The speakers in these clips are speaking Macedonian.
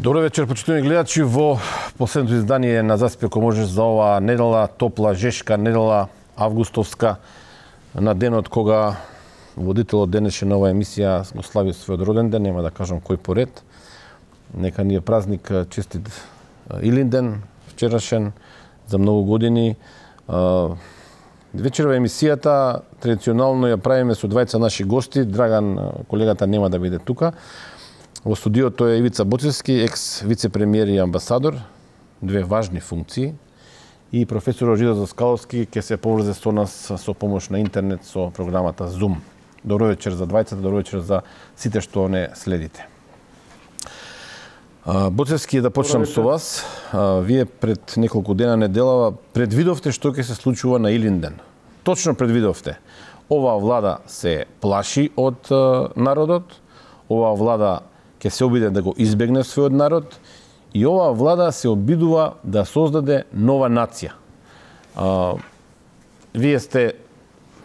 Добро вечер, почитувани гледачи, во последното издание на Заспи ако можеш за оваа недела, топла, жешка недела, августовска, на денот кога водителот денеше на оваа емисија го слави својот роден ден, нема да кажам кој поред. Нека ни е празник, честит Илинден, вчерашен, за многу години. Вечерва емисијата традиционално ја правиме со двајца наши гости. Драган, колегата, нема да биде тука. Во студиото е Ивица Боцевски, екс вице-премиер и амбасадор, две важни функции, и професор Жидо Заскаловски ќе се поврзе со нас со помош на интернет со програмата Zoom. Добро вечер за двајцата, добро вечер за сите што не следите. Боцевски, да почнам со вас. Вие пред неколку дена недела предвидовте што ќе се случува на Илинден. Точно предвидовте. Оваа влада се плаши од народот, оваа влада ќе се обиде да го избегне својот народ и оваа влада се обидува да создаде нова нација. Вие сте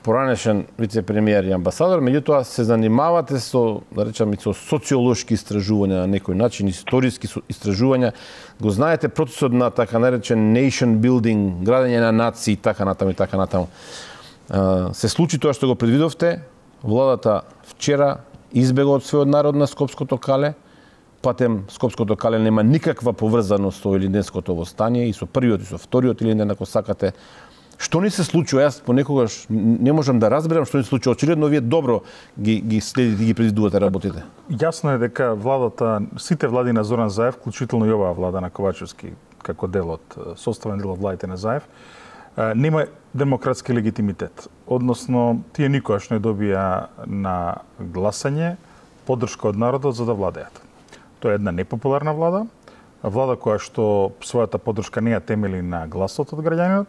поранешен вице-премиер и амбасадор, меѓутоа се занимавате со, да речам, со социолошки истражувања на некој начин, историски истражувања. Го знаете процесот на така наречен nation building, градење на нации, така натаму и така натаму. Се случи тоа што го предвидовте. Владата вчера избега од својот народ на Скопското кале. Патем Скопското кале нема никаква поврзаност со Илинденското востание и со првиот и со вториот Илинден, ако сакате. Што ни се случува? Јас понекогаш не можам да разберам што ни се случува. Очигледно вие добро ги следите и ги предвидувате работите. Јасно е дека владата, сите влади на Зоран Заев, вклучително и оваа влада на Ковачевски, како дел од составен дел од владите на Заев, нема демократски легитимитет. Односно, тие никогаш не добија на гласање поддршка од народот за да владеат. Тоа е една непопуларна влада, влада која што својата поддршка не ја темели на гласот од граѓанинот,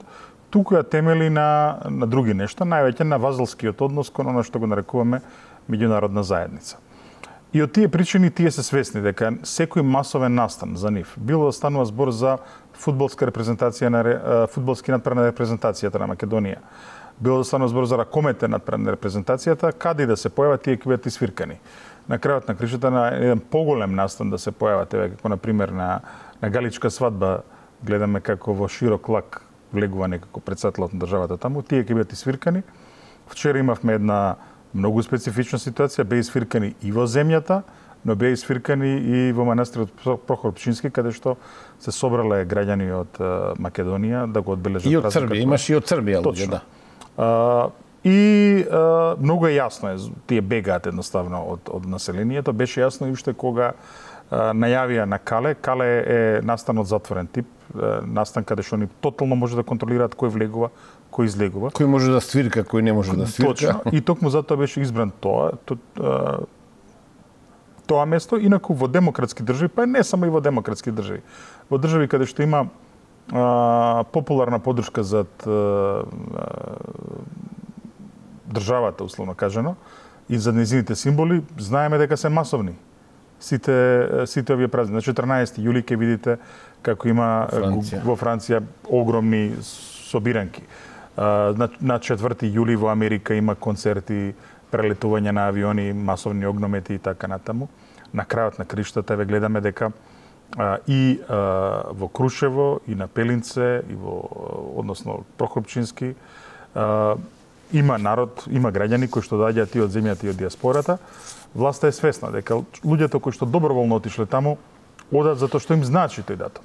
туку ја темели на други нешта, највеќе на вазалскиот однос кон она што го нарекуваме меѓународна заедница. И од тие причини тие се свесни дека секој масовен настан за нив, било да станува збор за фудбалска репрезентација на фудбалски надпред на репрезентацијата на Македонија, било да станува збор за ракомете надпред на репрезентацијата, каде да се појават тие ќе бидат исвиркани. На крајот на кришата на еден поголем настан да се појават, еве како на пример на Галичка свадба, гледаме како во широк лак влегува некако председателот на државата таму, тие ќе бидат исвиркани. Вчера имавме една многу специфична ситуација, беа исвиркани и во земјата, но беа исвиркани и во манастирот Прохор Пчински, каде што се собрале граѓани од Македонија да го одбележат празникот. И од Црбија, имаш и од Црбија луѓе, да. И многу е јасно, тие бегаат едноставно од населението. Беше јасно и уште кога најавија на Кале. Кале е настан од затворен тип, настан каде што они тотално може да контролираат кој влегува, кој излегува. Кој може да свирка, кој не може да свирка. Точно. И токму затоа беше избран тоа место, инаку во демократски држави, па не само и во демократски држави. Во држави каде што има популарна поддршка за државата, условно кажано, и за нејзините символи, знаеме дека се масовни. Сите овие празници. На 14 јули ќе видите како има во Франција огромни собиранки. На 4 јули во Америка има концерти, прелетување на авиони, масовни огномети и така натаму. На крајот на криштата ве гледаме дека и во Крушево, и на Пелинце, и односно Прохор Пчински, има народ, има граѓани кои што доаѓаат и од земјата и од диаспората. Власта е свесна дека луѓето кои што доброволно отишле таму одат затоа што им значи тој датум.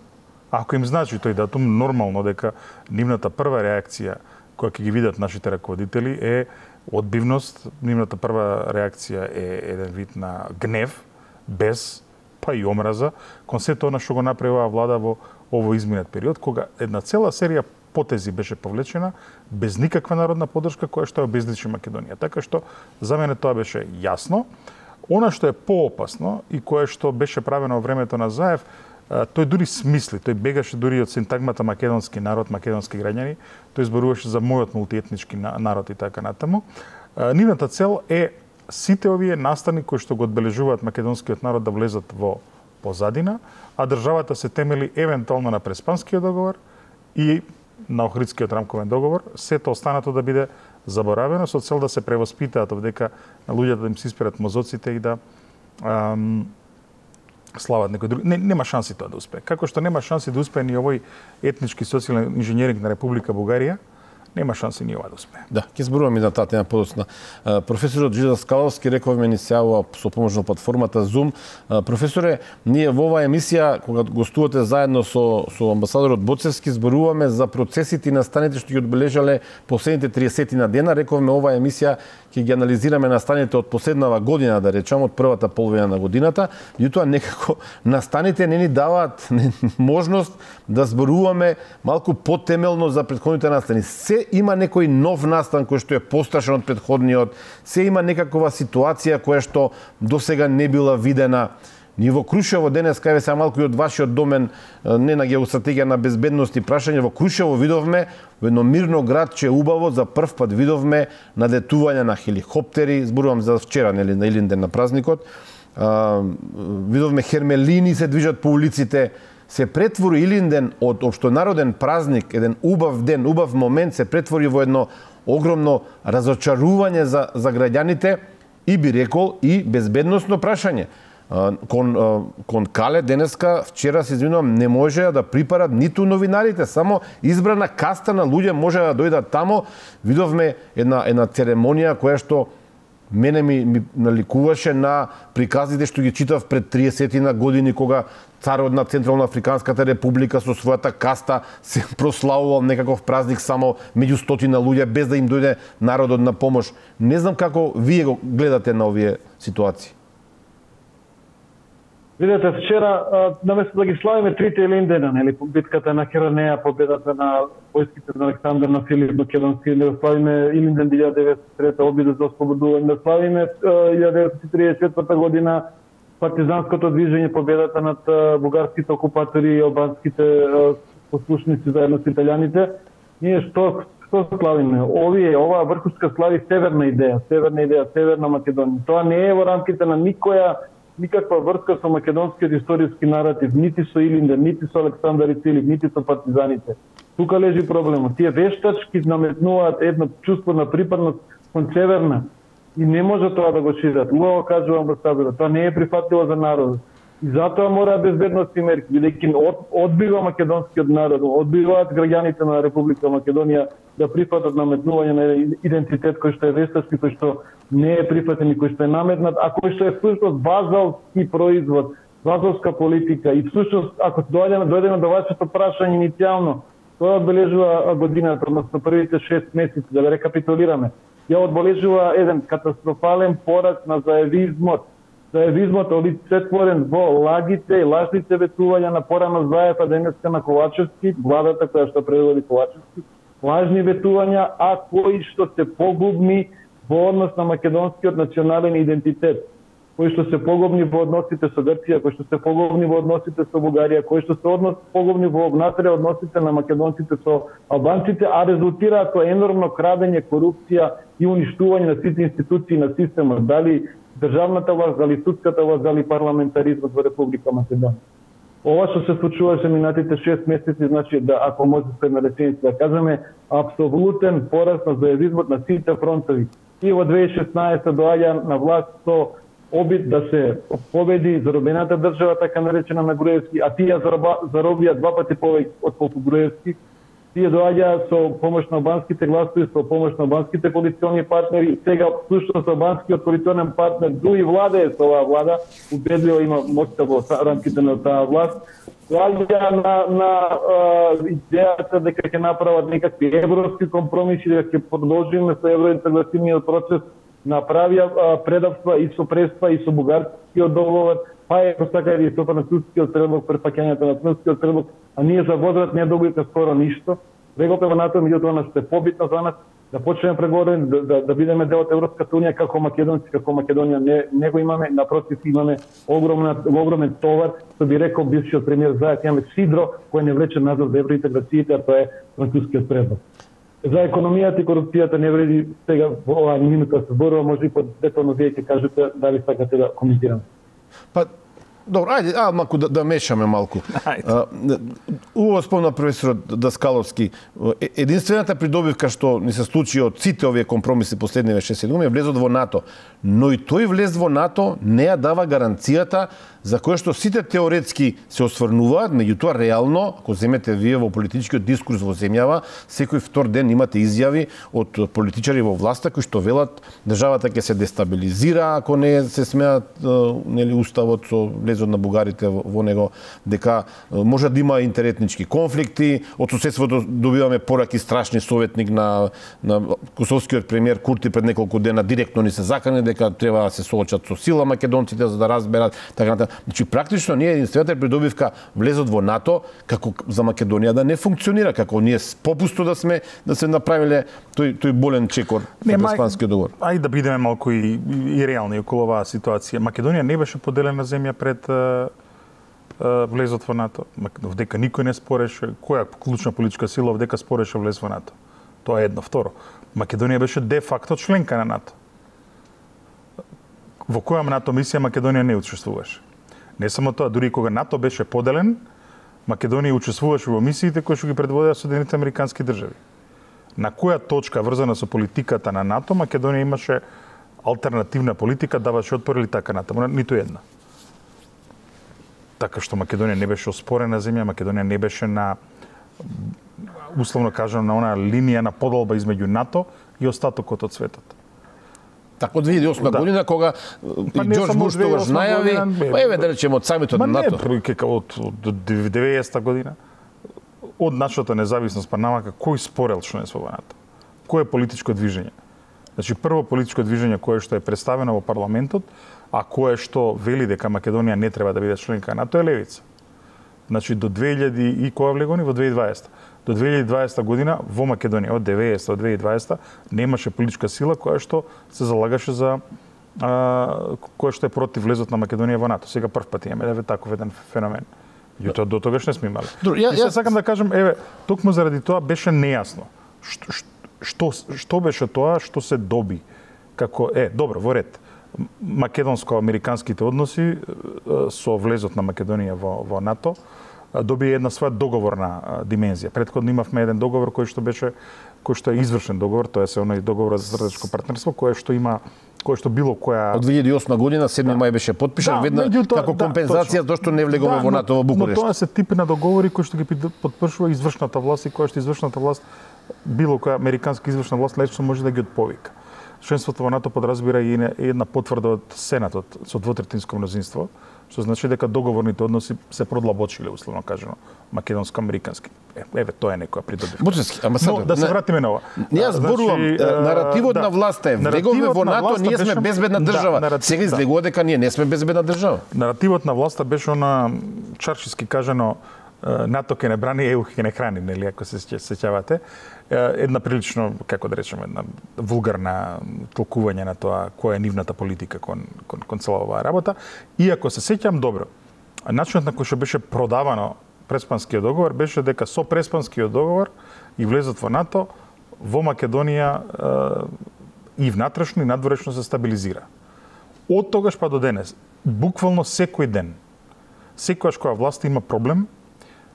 Ако им значи тој датум, нормално дека нивната прва реакција која ќе ги видат нашите раководители е одбивност, нивната прва реакција е еден вид на гнев, без па и омраза кон сето она што го направи оваа влада во овој изминат период, кога една цела серија потези беше повлечена без никаква народна поддршка која што обезличи Македонија. Така што за мене тоа беше јасно. Она што е поопасно и кое што беше правено во времето на Заев, тој дури смисли, тој бегаше дури од синтагмата македонски народ, македонски граѓани, тој зборуваше за мојот мултиетнички народ и така натаму. Нивната цел е сите овие настани кои што го одбележуваат македонскиот народ да влезат во позадина, а државата се темели евентуално на Преспанскиот договор и на Охридскиот рамковен договор, сето останато да биде заборавено со цел да се превоспитаат, дека на луѓето да им се исперат мозоците и да слават некој друг. Нема шанси тоа да успее. Како што нема шанси да успее ни овој етнички социјален инженеринг на Република Бугарија, нема шанси ни ова да успее. Да, ќе зборуваме за таа тема подоцна. Професорот Жизел Скаловски рековме ни се јавува со помош на платформата Zoom. Професоре, ние во оваа емисија кога гостувате заедно со амбасадорот Боцевски зборуваме за процесите и настаните што ги одбележале последните 30 на дена. Рековме оваа емисија ќе ги анализираме настаните од последнава година, да речам, од првата половина на годината. Меѓутоа некако настаните не ни даваат можност да зборуваме малку потемелно за претходните настани. Се има некој нов настан кој што е пострашен од претходниот, се има некаква ситуација која што досега не била видена. Ние во Крушево денес, кај се малку и од вашиот домен, не на геостратегија на безбедност и прашање, во Крушево видовме во едно мирно градче убаво за прв пат видовме налетување на хеликоптери, зборувам за вчера, нели, на Илинден на празникот. Видовме хермелини се движат по улиците. Се претвори Илинден од општонароден празник, еден убав ден, убав момент, се претвори во едно огромно разочарување за граѓаните и би рекол и безбедносно прашање. Кон Кале денеска, вчера се извинувам, не може да припарат ниту новинарите, само избрана каста на луѓе може да дојдат тамо. Видовме една церемонија која што мене ми наликуваше на приказите што ги читав пред 30 на години, кога царот на Централна Африканската република со својата каста се прославувал некаков празник само меѓу стотина луѓе, без да им дојде народот на помош. Не знам како вие го гледате на овие ситуации. Видете, вчера, наместо да ги славиме трите Илиндена, нели, битката на Керанеја, победата на војските на Александар, на Филип Македонски, да славиме Илинден 1903 обидот за ослободување, да славиме 1934 година партизанското движење, победата над бугарските окупатори и албанските послушници заедно со италијаните. Ние што славиме? Оваа врхушка слави северна идеја, Северна Македонија. Тоа не е во рамките на никаква врска со македонскиот историски наратив, нити со Илинден, нити со Александар и Филип, нити со партизаните. Тука лежи проблемот. Тие вештачки наметнуваат едно чувство на припадност кон Северна и не може тоа да го шират. Убаво кажува амбасадорот, тоа не е прифатливо за народот. И затоа мора безбедностни мерки, бидејќи одбива македонскиот народ, одбиваат граѓаните на Република Македонија да прифатат наметнување на идентитет кој што е вештачки, кој што не е прифатен и кој што е наметнат, а кој што е всушност базалски производ, базалска политика. И всушност, ако дојдеме до вашето прашање иницијално, тоа одбележува годината, односно првите 6 месеци, да рекапитулираме. Ја одбележува еден катастрофален пораст на заевизмот. Заевизмот олицетворен во лагите и лажните ветувања на порано Заев, а денеска на Ковачевски, владата која што предводи Ковачевски, лажни ветувања, а кои што се погубни во однос на македонскиот национален идентитет, кои што се погубни во односите со Грција, кои што се погубни во односите со Бугарија, кои што се погубни во внатре односите на македонците со албанците, а резултираат со енормно крадење, корупција и уништување на сите институции на системот, дали државната власт, дали судската власт, дали парламентаризмот во Република Македонија. Ова што се случуваше минатите 6 месеци, значи да, ако може една реченица да кажеме, апсолутен пораст на заевизмот на сите фронтови. И во 2016 доаѓа на власт со обид да се победи заробената држава, така наречена на Груевски, а тие заробија 2 пати повеќе од колку Груевски. Тие доаѓа со помош на албанските гласови, со помош на албанските коалициони партнери. Сега всушност албанскиот коалиционен партнер дуи владее со оваа влада, убедливо има моќта во рамките на таа власт. Доаѓа на идејата дека ќе направат некакви европски компромиси, дека ќе продолжиме со евроинтегративниот процес, направија предавства и со прества и со бугарскиот договор, па е така и со францускиот предлог, препаќањето на францускиот предлог, а ние за возврат не добивме скоро ништо. Преговорите на НАТО, меѓутоа, нас е побитно за нас да почнеме преговори, да бидеме дел од Европската унија како македонци, како Македонија не го имаме, напротив имаме огромен товар, што би рекол бившиот премиер Заев, имаме сидро кој не влече назад за евроинтеграциите, а тоа е францускиот предлог. За економијата и корупцијата не вреди сега во оваа минута се зборува, може и подетално вие ќе кажете дали сакате да коментирам. Па, Добро, ајде, малку да мешаме малку. Убаво спомна професорот Даскаловски. Единствената придобивка што ни се случи од сите овие компромиси последниве 6 години е влезот во НАТО. Но и тој влез во НАТО не ја дава гаранцијата за која што сите теоретски се осврнуваат, меѓутоа реално, ако земете вие во политичкиот дискурс во земјава, секој втор ден имате изјави од политичари во власта кои што велат државата ќе се дестабилизира ако не се смеат нели уставот со влезот на бугарите во него, дека може да има интеретнички конфликти, од соседството добиваме пораки страшни. Советник на косовскиот премиер Курти пред неколку дена директно ни се закани дека треба да се соочат со сила македонците за да разберат така натаму. Значи практично ние единствената придобивка влезот во НАТО како за Македонија да не функционира, како ние попусто да се направиле тој болен чекор во Преспанскиот договор. Ајде да бидеме малку и реални околу оваа ситуација. Македонија не беше поделена земја пред влезот во НАТО. Вдека никој не спореше, која клучна политичка сила вдека спореше влез во НАТО. Тоа е едно. Второ, Македонија беше де факто членка на НАТО. Во која НАТО мисија Македонија не учествуваше. Не само тоа, дури кога НАТО беше поделен, Македонија учествуваше во мисиите кои што ги предводеа Соединетите Американски држави. На која точка врзана со политиката на НАТО, Македонија имаше алтернативна политика, даваше отпор или така натаму, ниту една. Така што Македонија не беше оспорена земја, Македонија не беше на, условно кажано, на она линија на подолба измеѓу НАТО и остатокот од светот. Така од 2008 година, кога Џорџ Буш тогаш најави, еве да речеме од самитот на НАТО. Од 90-та година, од нашата независност па намака, кој спорел членство во НАТО? Кој е политичко движење? Значи, прво политичко движење кое што е представено во парламентот, а кое што вели дека Македонија не треба да биде членка на НАТО е левица. Значи, до 2000 и која влегони? Во 2020. До 2020 година во Македонија од 90 до 2020 немаше политичка сила која што се залагаше за која што е против влезот на Македонија во НАТО. Сега прв пат имаме таков еден феномен. Јутоа до тогаш не сме имали. И се сакам да кажам, еве, токму заради тоа беше нејасно. Што беше тоа што се доби? Како добро, во ред. Македонско-американските односи со влезот на Македонија во НАТО доби една своја договорна димензија. Претходно имавме еден договор кој што е извршен договор, тоа е оној договор за стратешко партнерство, кој што било која од 2008 година 7 мај беше подпишан веднаш како компензација зашто не влегоме во НАТО во Букурешт. Но тоа се тип на договори кои што ги подпишува извршната власт и која што извршната власт било која американска извршна власт лесно може да ги отповика. Членството во НАТО подразбира и една потврда од Сенатот со двотретинско мнозинство, што значи дека договорните односи се продлабочиле, условно кажано, македонско-американски. Еве, тоа е некоја придобивка. Буџевски, амбасадор. Но да се вратиме на ова. Ние зборувам, наративот на власта е влеговме во НАТО, ние сме безбедна држава. Сега излегува дека ние не сме безбедна држава. Наративот на власта беше она чаршиски кажано НАТО ке не брани, ЕУ ке не храни, нели, ако се сеќавате. Една прилично, како да речеме, една вулгарна толкување на тоа која е нивната политика кон цела оваа работа. Иако се сеќам добро, начинот на кој што беше продавано Преспанскиот договор беше дека со Преспанскиот договор и влезот во НАТО во Македонија и внатрешно и надворешно се стабилизира. Од тогаш па до денес, буквално секој ден, секогаш која власт има проблем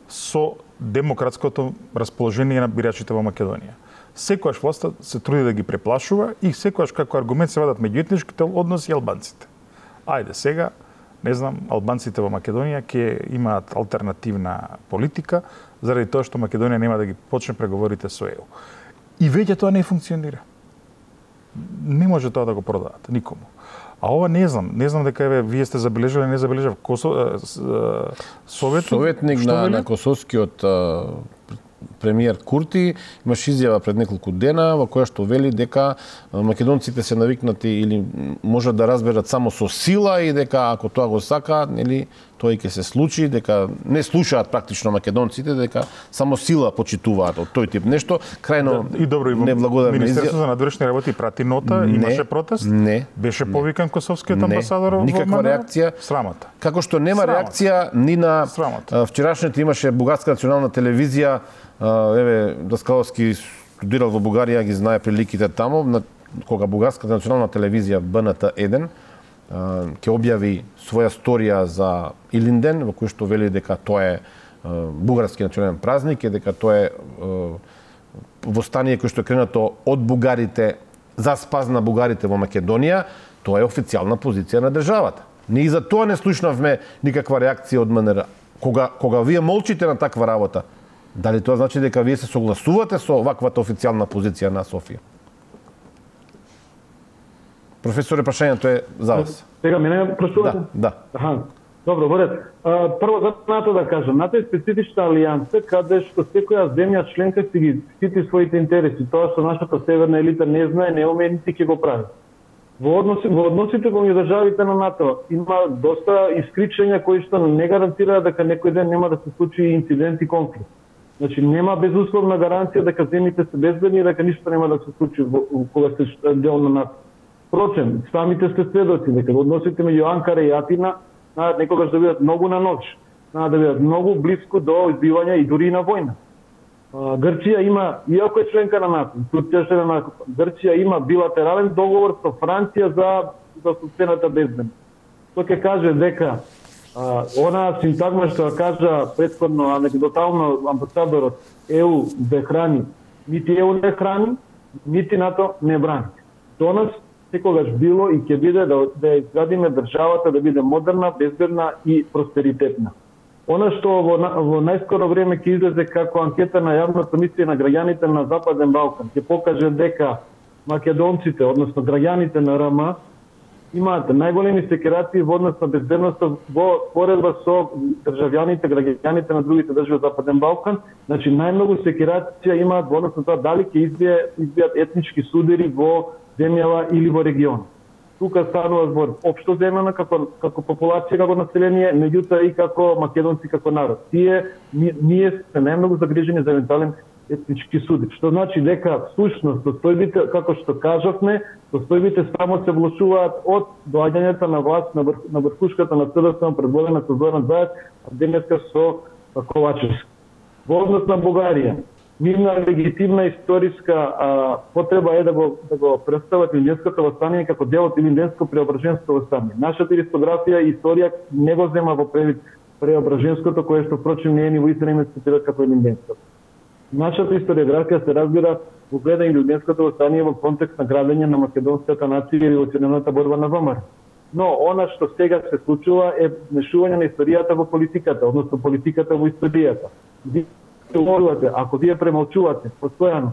со демократското расположение на бирачите во Македонија. Секогаш власта се труди да ги преплашува и секогаш како аргумент се вадат меѓуетничките односи и албанците. Ајде сега, не знам, албанците во Македонија ќе имаат алтернативна политика заради тоа што Македонија нема да ги почне преговорите со ЕУ. И веќе тоа не функционира. Не може тоа да го продаат никому. А ова не знам дека еве вие сте забележале, не забележав советник на косовскиот премиер Курти имаше изјава пред неколку дена во која што вели дека македонците се навикнати или можат да разберат само со сила и дека ако тоа го сакаат, нели тоа ќе се случи, дека не слушаат практично македонците, дека само сила почитуваат од тој тип нешто, крајно и добро и неблагодарно. Министерството за надворешни работи прати нота, имаше протест? Не. Беше повикан косовскиот амбасадор во никаква реакција. Срамота. Како што нема реакција ни на вчерашните имаше бугарска национална телевизија, еве Даскаловски студирал во Бугарија, ги знае приликите таму, кога бугарската национална телевизија БНТ 1 ќе објави своја сторија за Илинден, во кој што вели дека тоа е бугарски национален празник, и дека тоа е востание кој што е кренато од бугарите за спас на бугарите во Македонија, тоа е официјална позиција на државата. Ние и за тоа не слушнавме никаква реакција од МНР. Кога вие молчите на таква работа, дали тоа значи дека вие се согласувате со ваквата официјална позиција на Софија? Професоре, прашањето е за вас. Сега мене прашувате? Да. Аха. Добро, во ред. Прво за НАТО да кажам, НАТО е специфична алијанса каде што секоја земја членка си ги штити своите интереси. Тоа што нашата северна елита не знае, не уме, нити ќе го прави. Во односите помеѓу државите на НАТО има доста искричења кои што не гарантираат дека некој ден нема да се случи инцидент и конфликт. Значи нема безусловна гаранција дека земјите се безбедни и дека ништо нема да се случи кога се дел на НАТО. Впрочем, самите сте сведоци дека односите меѓу Анкара и Атина некогаш да бидат многу на ноќ, да бидат многу блиску до избивања и дури на војна. Грција има, иако е членка на НАТО, Грција има билатерален договор со Франција за собствената безбедност. Тоа ќе каже дека она синтагма што кажа претходно анекдотално амбасадорот ЕУ да храни, нити ЕУ не храни, нити НАТО не брани. До нас секогаш било и ќе биде да изградиме државата да биде модерна, безбедна и просперитетна. Она што во најскоро време ќе излезе како анкета на јавната мисија на граѓаните на Западен Балкан, ќе покаже дека македонците, односно граѓаните на РМ, имаат најголеми секирации во однос на безбедноста во поредба со граѓаните на другите држави од Западен Балкан. Значи најмногу секирација имаат во однос на тоа дали ќе избијат етнички судери во земјава или во регион. Тука станува збор општо земјана како популација, како население, меѓутоа и како македонци како народ. Ние сме најмногу загрижени за евентуален етнички суди. Што значи дека всушност состојбите, како што кажавме, состојбите само се влошуваат од доаѓањето на власт на врхушката на СДСМ предводена со Зоран Заев, а денеска со Ковачевски. Во однос на Бугарија, нивна легитимна историска потреба е да го представат Илинденското восстание како дел од Илинденско преображенско восстание. Нашата историографија и историја не го зема во превид преображенското, кое што впрочем не е ни во истина име цитират како Илинденското. Нашата историографија се разбира во гледа Илинденското восстание во контекст на градење на македонската нација и револуционарната борба на ВМРО. Но она што сега се случува е вмешување на историјата во политиката, односно политиката во историјата. Ако вие премолчувате постојано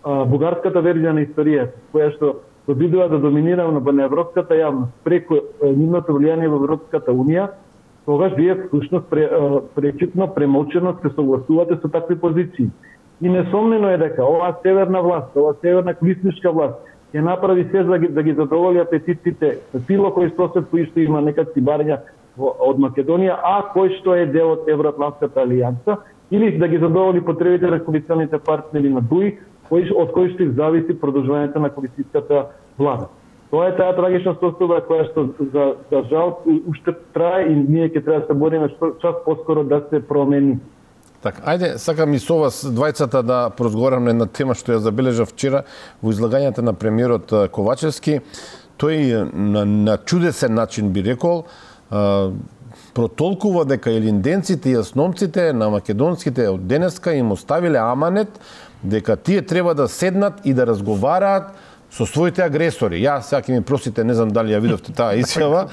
бугарската верзија на историјата, која што обидува да доминира на европската јавност преку нивното влијание во Европската унија, тогаш вие всушност пречитно, премолчено се согласувате со такви позиции. И несомнено е дека оваа северна власт, оваа северна колисничка власт ќе направи се да ги задоволи апетитите на било кој сосед кој што има некакви барања од Македонија, а кој што е дел од Евроатлантската алијанса, или да ги задоволи потребите на коалиционите партнери на ДУИ, од кои што зависи продолжувањето на коалицијската влада. Тоа е таа трагична состојба која што за жал уште трае и ние ќе треба да се бориме час поскоро да се промени. Така, ајде, сакам и со вас двајцата да поразговараме на тема што ја забележав вчера во излагањето на премиерот Ковачевски. Тој на чудесен начин би рекол протолкува дека илинденците и јасномците на македонските од денеска им оставиле аманет дека тие треба да седнат и да разговараат со своите агресори. Ја сега ќе ми просите, не знам дали ја видовте таа изјава.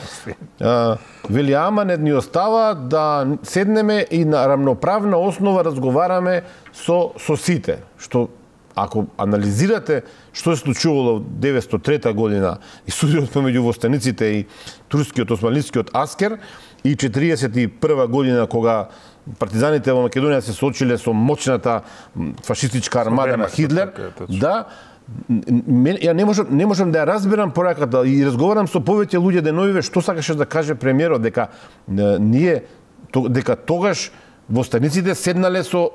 Вели аманет ни остава да седнеме и на рамноправна основа разговараме со сите. Што ако анализирате што се случувало 903 година и судирот помеѓу востаниците и турскиот османлискиот аскер и 41 година кога партизаните во Македонија се соочиле со моćната фашистичка армада на Хитлер, да, ја не можам да ја разберам пораката и разговарам со повеќе луѓе деновиве што сакаше да каже премиерот дека дека тогаш востаниците седнале со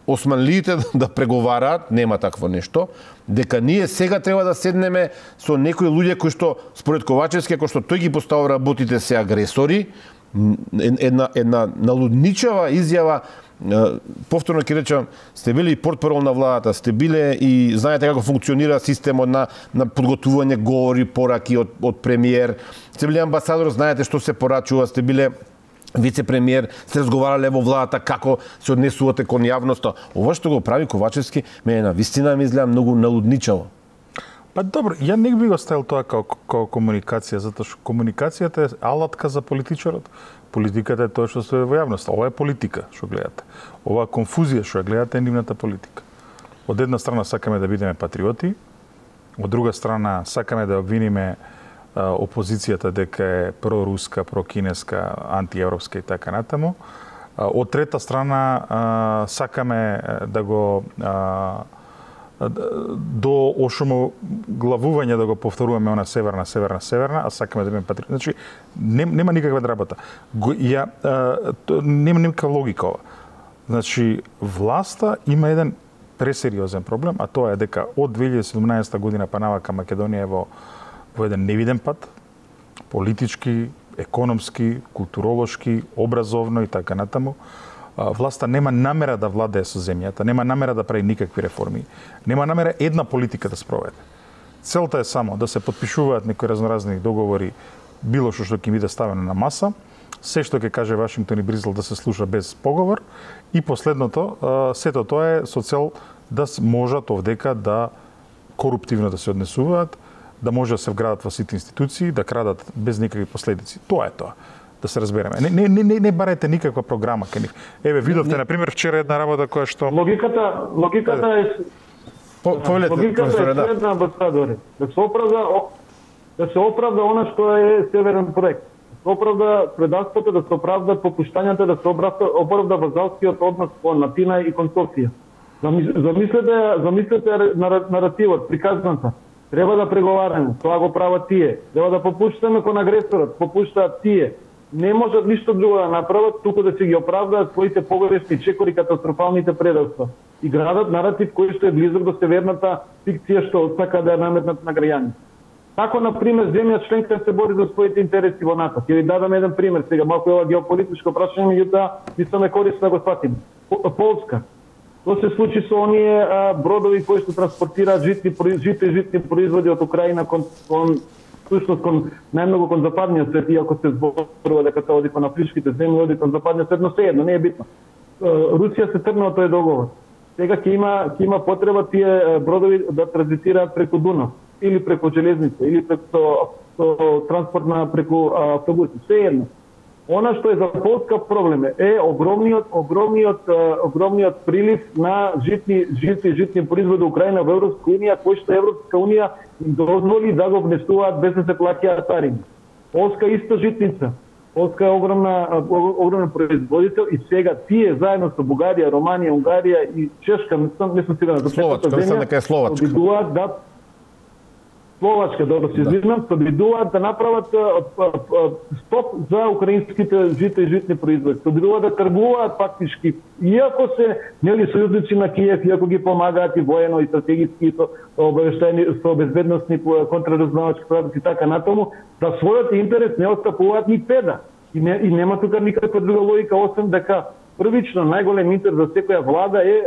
османлиите да преговараат, нема такво нешто, дека ние сега треба да седнеме со некои луѓе кои што според Ковачевски, кои што тој ги поставува работите се агресори, една налудничава изјава. Повторно ќе речам, сте били и портпарол на владата, сте биле и знаете како функционира системот на подготвување говори, пораки од премиер, сте били амбасадор, знаете што се порачува, сте биле вице-премиер, сте разговарале во владата како се однесувате кон јавноста. Ова што го прави Ковачевски, мене на вистина ми изгледа многу налудничаво. Па добро, ја не би го ставил тоа како комуникација, затоа што комуникацијата е алатка за политичарот. Политиката е тоа што стои во јавноста. Ова е политика, што гледате. Ова конфузија што ја гледате е нивната политика. Од една страна сакаме да бидеме патриоти, од друга страна сакаме да обвиниме опозицијата дека е проруска, прокинеска, антиевропска и така натаму. Од трета страна сакаме да го до ошумоглавување да го повторуваме она северна, а сакаме да бидеме патриоти. Значи, нема никаква работа. Нема никаква логика ова. Значи, власта има еден пресериозен проблем, а тоа е дека од 2017 година па навака Македонија е во еден невиден пат, политички, економски, културолошки, образовно и така натаму. Власта нема намера да владее со земјата, нема намера да прави никакви реформи, нема намера една политика да спроведе. Целта е само да се потпишуваат некои разноразни договори, било што ќе биде ставено на маса, се што ќе каже Вашингтон и Бризел да се слуша без поговор и последното, сето тоа е со цел да можат овдека да коруптивно да се однесуваат, да може да се вградат во сите институции, да крадат без никакви последици. Тоа е тоа. Да се разбереме. Не барете никаква програма кај нив. Еве, видовте, например, вчера една работа која што... Логиката е... Логиката е следна, амбасадоре. Да се оправда она што е северен проект. Да се оправда предавството, да се оправда попуштањата, да се оправда вазалскиот однос кон Атина и кон Софија. Замислете наративот, приказната. Треба да преговараме, тоа го прават тие. Треба да попуштаме кон агресорот, попуштаат тие. Не можат ништо друго да направат, туку да се ги оправдаат своите погрешни чекори, катастрофалните предавства. И градат наратив кој што е близок до северната фикција што сака да ја наметнат на граѓаните. Тако, например, земја членка се бори за своите интереси во НАТО. Ќе ви дадам еден пример сега, малку ова геополитичко прашање, меѓутоа мислам е корисно да го сватиме. Полска. Тоа се случи со оние бродови кои што транспортираат житни производи од Украина кон најмногу кон западниот свет, иако се зборува дека се оди кон афричките земји, оди кон западниот свет, но sejedno, не е битно. Русија се тргна од тој договор. Сега ќе има потреба тие бродови да транзитираат преку Дунав, или преку железница, или преку транспортна преку автобуси, sejedno. Она што е за Полска проблем е огромниот прилив на житни производи Украина во Европска унија, кој што Европска унија им дозволи да го внесуваат без да се плаќаат тарини. Полска иста житница. Полска е огромен производител и сега тие заедно со Бугарија, Романија, Унгарија и Чешка, не сум сигурен, Словачка, добро се извинам, се обидуваат да направат стоп за украинските житни производи. Се обидуваат да тргуваат фактички, иако се сојузници на Киев, иако ги помагаат и воено, и стратегиски, и со обавештајни, со безбедносни контраразузнавачки продукти и така натаму, да својот интерес не отстапуваат ни педа. И нема тука никаква друга логика, освен дека првично најголем интерес за секоја влада е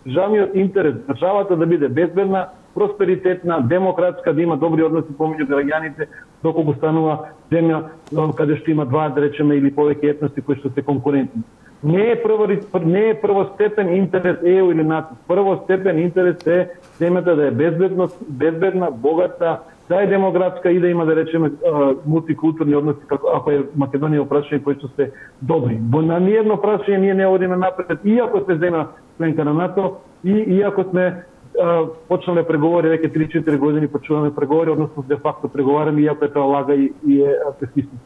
државниот интерес, државата да биде безбедна, просперитетна, демократска, да има добри односи помеѓу граѓаните, доколку станува земја каде што има два, да речеме, или повеќе етноси кои што се конкурентни. Не е првостепен интерес ЕУ или НАТО. Првостепен интерес е земјата да е безбедна, богата, да е демографска и да има, да речеме, мултикултурни односи, ако е Македонија прашање кои што се добри. На ниедно прашање ние не одиме напред, иако сме земја членка на НАТО и иако сме почнале преговори, веќе 3-4 години почуваме преговори, односно де факто преговараме, иако е тоа лага и е песимистично.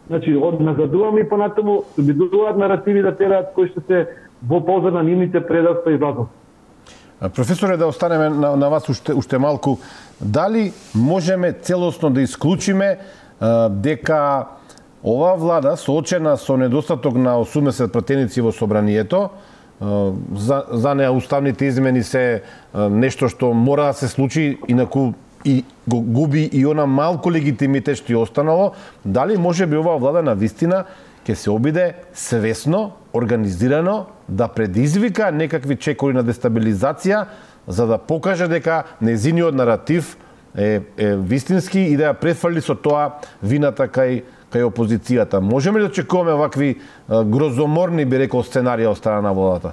Значи, назадуваме и понатаму, обидуваат наративи да тераат кои што се во полза на нивните предавства и вазов. Професоре, да останеме на вас уште малку. Дали можеме целосно да исклучиме дека оваа влада, соочена со недостаток на 80 пратеници во собранието, за неа уставните измени се нешто што мора да се случи, инаку и го губи и она малку легитимитет што ја останало, дали може би оваа влада на вистина ќе се обиде свесно, организирано да предизвика некакви чекори на дестабилизација за да покаже дека нејзиниот наратив е вистински и да ја префрли со тоа вината кај опозицијата. Можеме ли да очекуваме вакви грозоморни, би рекол, сценарија од страна на владата?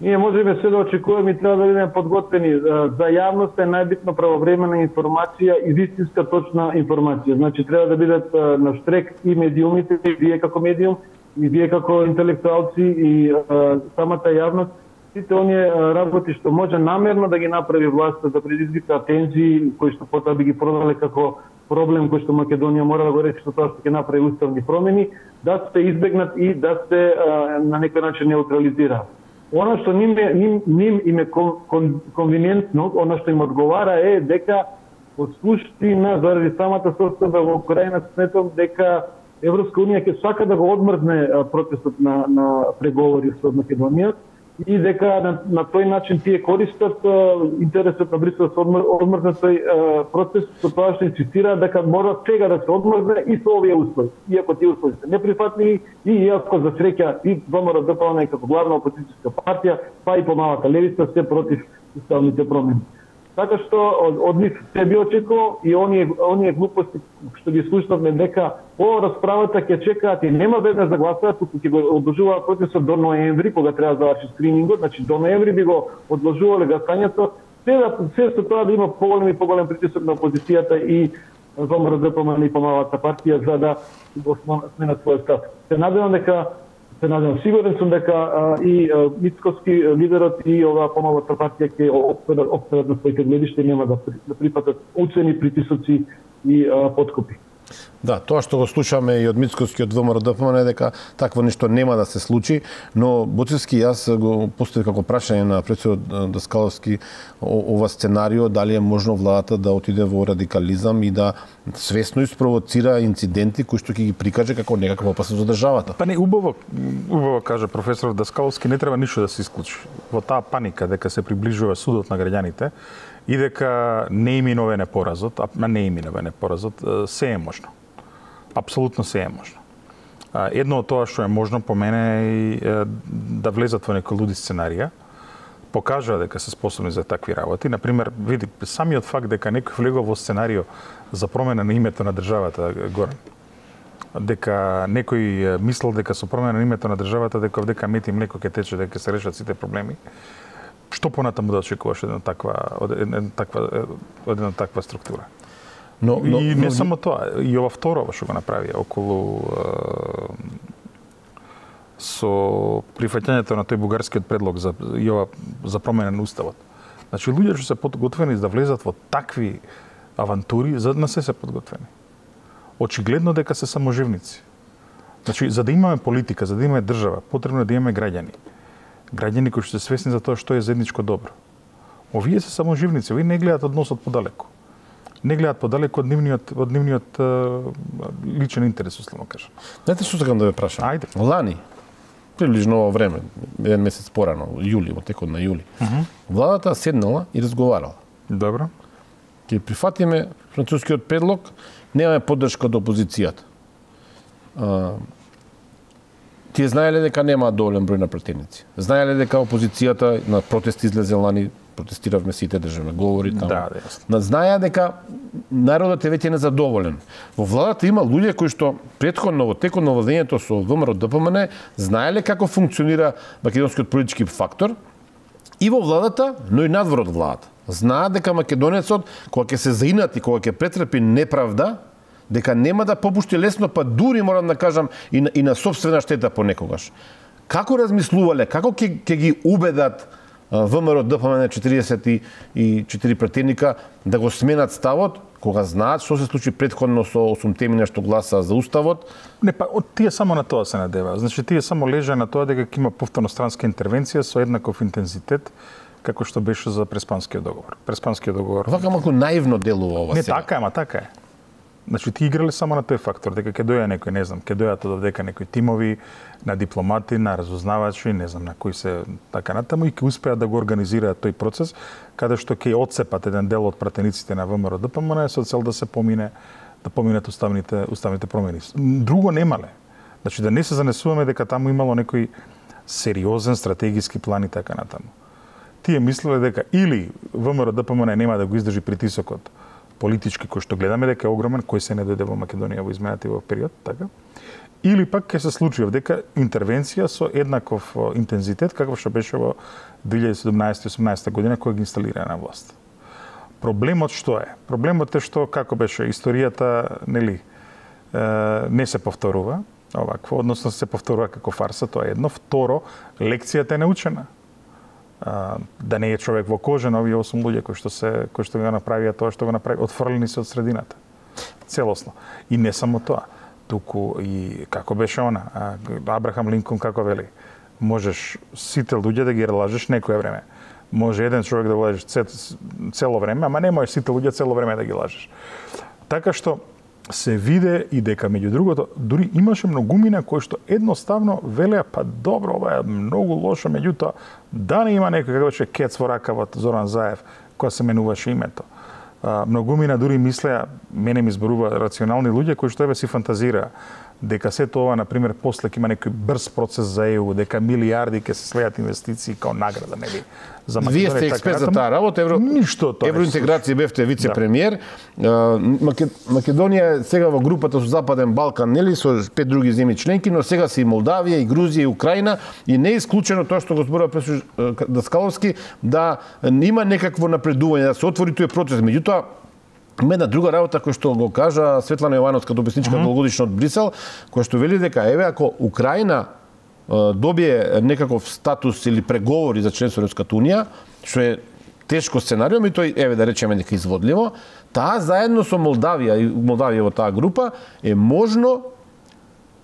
Ние можеме се да очекуваме и треба да бидеме подготвени. За јавност е најбитно правовремена информација и вистинска точна информација. Значи треба да бидат на штрек и медиумите, и вие како медиум, и вие како интелектуалци, и самата јавност. Сите оние работи што може намерно да ги направи власта да предизвика тензии, кои што потоа би ги продале како проблем кој што Македонија мора да го реши со тоа што ќе направи уставни промени, да се избегнат и да се на некој начин неутрализира. Она што ним им е конвениентно, она што им одговара е дека од суштина заради самата состојба во Украина сметам дека Европска унија ќе сака да го одмрзне процесот на преговори со Македонија и дека на тој начин тие користат интересот на Брисел да се одмрзне тој процес, со тоа што инсистираат дека мора сега да се одмрзне и со овие услови. Иако тие услови се неприфатливи и иако за среќа и ВМРО-ДПМН како главна опозицијска партија, па и помалата левица се против уставните промени. Така што од нив се би очекувал и оние глупости што ги слушнавме дека по расправата ќе чекаат и нема веднаш да гласаат, туку ќе го одложуваат процесот до ноември, кога треба да заврши скринингот, значи до ноември би го одложувале гласањето, се со тоа да има поголем притисок на опозицијата и ВМРО-ДПМН и помалата партија за да го сменат својот став. Сигурен сум дека и Мицкоски лидерот и оваа помалата партија ќе опседат на своите гледишта и нема да припатат уцени, притисоци и подкупи. Да, тоа што го слушаме и од Мицкоски од ВМРО-ДПМН е дека такво нешто нема да се случи, но Буцевски јас го поставив како прашање на претседателот Даскаловски ова сценарио, дали е можно владата да отиде во радикализам и да свесно испровоцира инциденти кои што ќе ги прикаже како некаква опасност за државата. Па не, убаво каже професор Даскаловски, не треба ништо да се исклучи. Во таа паника дека се приближува судот на граѓаните и дека не им миновене поразот, се е можно. Апсолутно се е можно. Едно од тоа што е можно по мене е да влезат во некои луди сценарија, покажа дека се способни за такви работи. Например, види, самиот факт дека некој влегува во сценарио за промена на името на државата, Горан, дека некој мислел дека со промена на името на државата, дека овдека мет и млеко ќе тече, дека се решат сите проблеми, што понатаму да очекуваш од една таква структура? И не само тоа, и ова второ што го направија околу со прифаќањето на тој бугарскиот предлог за промена на уставот. Значи луѓе што се подготвени да влезат во такви авантури, за да се подготвени. Очигледно дека се саможивници. Значи за да имаме политика, за да имаме држава, потребно е да имаме граѓани. Граѓани кои што се свесни за тоа што е заедничко добро. Овие се саможивници, овие не гледаат односот подалеку. Не гледаат подалеку од нивниот личен интерес, условно кажам. Знаете што сакам да ве прашам? Ајде. Лани, приближно ово време, еден месец порано, јули, во текот на јули, владата седнала и разговарала. Добро. Ќе прифатиме францускиот предлог, немаме поддршка од опозицијата. Тие знаеле дека немаат доволен број на пратеници. Знаеле дека опозицијата на протести излезе лани, протестиравме сите, државме говори таму. Да, знаеа дека народот е веќе незадоволен. Во владата има луѓе кои што претходно во текот на владењето со ВМРО-ДПМН знаеле како функционира македонскиот политички фактор и во владата, но и надвор од владата. Знаат дека македонецот кога ќе се заинати, кога ќе претрпи неправда, дека нема да попушти лесно, па дури морам да кажам и на сопствена штета понекогаш. Како размислувале, како ќе ги убедат ВМРО-ДПМН 44 пратеника да го сменат ставот, кога знаат што се случи претходно со 8 нешто гласа за уставот? Не, па тие само на тоа се надеваа. Значи тие само лежа на тоа дека ќе има повторно странска интервенција со еднаков интензитет како што беше за Преспанскиот договор. Преспанскиот договор. Вака малку наивно делува ова сега. Не, така е. Значи, ти играле само на тој фактор, дека ќе доја некој, не знам, ќе дојат од дека некои тимови на дипломати, на разузнавачи, не знам, на кои се така натаму и ќе успеат да го организираат тој процес, каде што ќе отцепат еден дел од пратениците на ВМРО-ДПМН со цел да се помине да поминат уставните промени. Друго немале. Значи да не се занесуваме дека таму имало некој сериозен стратегиски план и така натаму. Тие мислеле дека или ВМРО ДПМН нема да го издржи притисокот политички кој што гледаме дека е огромен, кој се не дојде во Македонија во изминатиот период, така? Или пак ќе се случи дека интервенција со еднаков интензитет како што беше во 2017-18 година која ги инсталира на власт. Проблемот што е? Проблемот е што како беше историјата, нели, не се повторува овакво, односно се повторува како фарса, тоа е едно. Второ, лекцијата е научена. Да не е човек во кожа на овие 8 луѓе кои што го направија тоа што го направи, отфрлени се од средината. Целосно. И не само тоа, туку и како беше она, Абрахам Линколн како вели, можеш сите луѓе да ги лажеш некое време. Може еден човек да го лажеш цело време, ама не можеш сите луѓе цело време да ги лажеш. Така што се виде и дека меѓу другото дури имаше многумина кои што едноставно велеа па добро, ова е многу лошо, меѓутоа да не има некој како беше кец во ракавот Зоран Заев која се менуваше името. Многумина дури мислеа, мене ми зборува рационални луѓе кои што си фантазираа дека се тоа, например, после ќе има некој брз процес за ЕУ, дека милиарди ќе се слеат инвестиции као награда, нели? За Македонија. Вие сте експерт за таа работа, евроинтеграција бевте вице-премиер. Македонија сега во групата со Западен Балкан, нели, со 5 други земји членки, но сега се и Молдавија, и Грузија, и Украина, и не е исклучено тоа што го зборува професор Даскаловски, да има некакво напредување, да се отвори тој процес. Меѓутоа, има една друга работа која што го кажа Светлана Јовановска, дописничка долгогодишна од Брисел, која што вели дека еве ако Украина добие некаков статус или преговори за членство во Европската унија, што е тешко сценарио, и тој еве да речеме дека изводливо, таа заедно со Молдавија во таа група е можно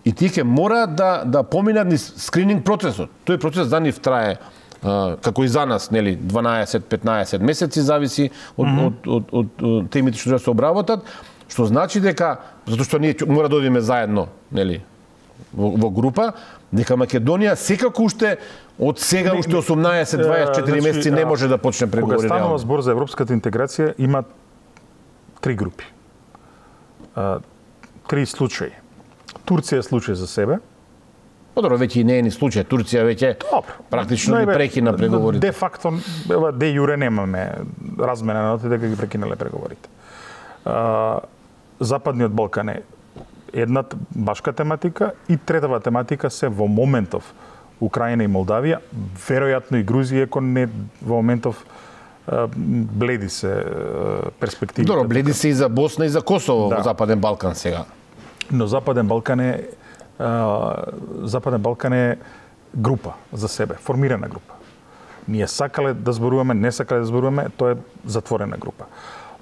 и тие ќе мора да поминат низ скрининг процесот. Тој процес за нив трае како и за нас, нели, 12-15 месеци, зависи од темите што се обработат, што значи дека, затоа што ние мора да одиме заедно, нели, во група, дека Македонија секако уште од сега уште 18-24 месеци не може да почне преговори. Кога станува збор за европската интеграција, има 3 групи. 3 случаи. Турција е случај за себе. Подобро, веќе и не е ни случај. Турција веќе практично ги прекина преговорите. Де факто, де јуре немаме размена на ноти дека ги прекинале преговорите. Западниот Балкан е една башка тематика и третава тематика се во моментов Украина и Молдавија, веројатно и Грузија, ако не во моментов бледи се перспективите. Добро, бледи се и за Босна и за Косово во Западен Балкан сега. Но Западен Балкан е група за себе, формирана група. Ние сакале да зборуваме, не сакале да зборуваме, тоа е затворена група.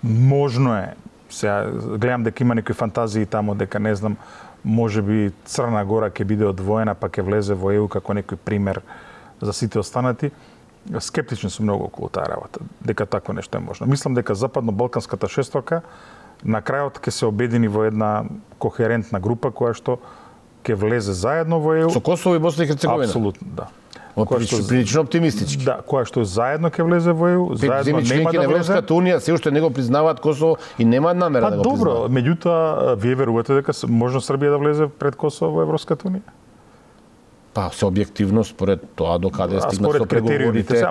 Можно е, сега гледам дека има некои фантазии тамо дека не знам, може би Црна Гора ќе биде одвоена па ќе влезе во ЕУ како некој пример за сите останати. Скептичен сум многу околу таа работа, дека такво нешто е можно. Мислам дека западно-балканската шесторка на крајот ќе се обедини во една кохерентна група која што ќе влезе заедно во ЕУ. Со Косово и Босна и Херцеговина? Апсолутно, да. Прилично оптимистички. Да, која што заедно ќе влезе во ЕУ, заедно нема да влезе. Европската унија се уште не го признаваат Косово и немаат намера да го признаваат. Добро, меѓутоа вие верувате дека можно Србија да влезе пред Косово во Европската унија? Па се објективно според тоа докаде стигнат со преговорите.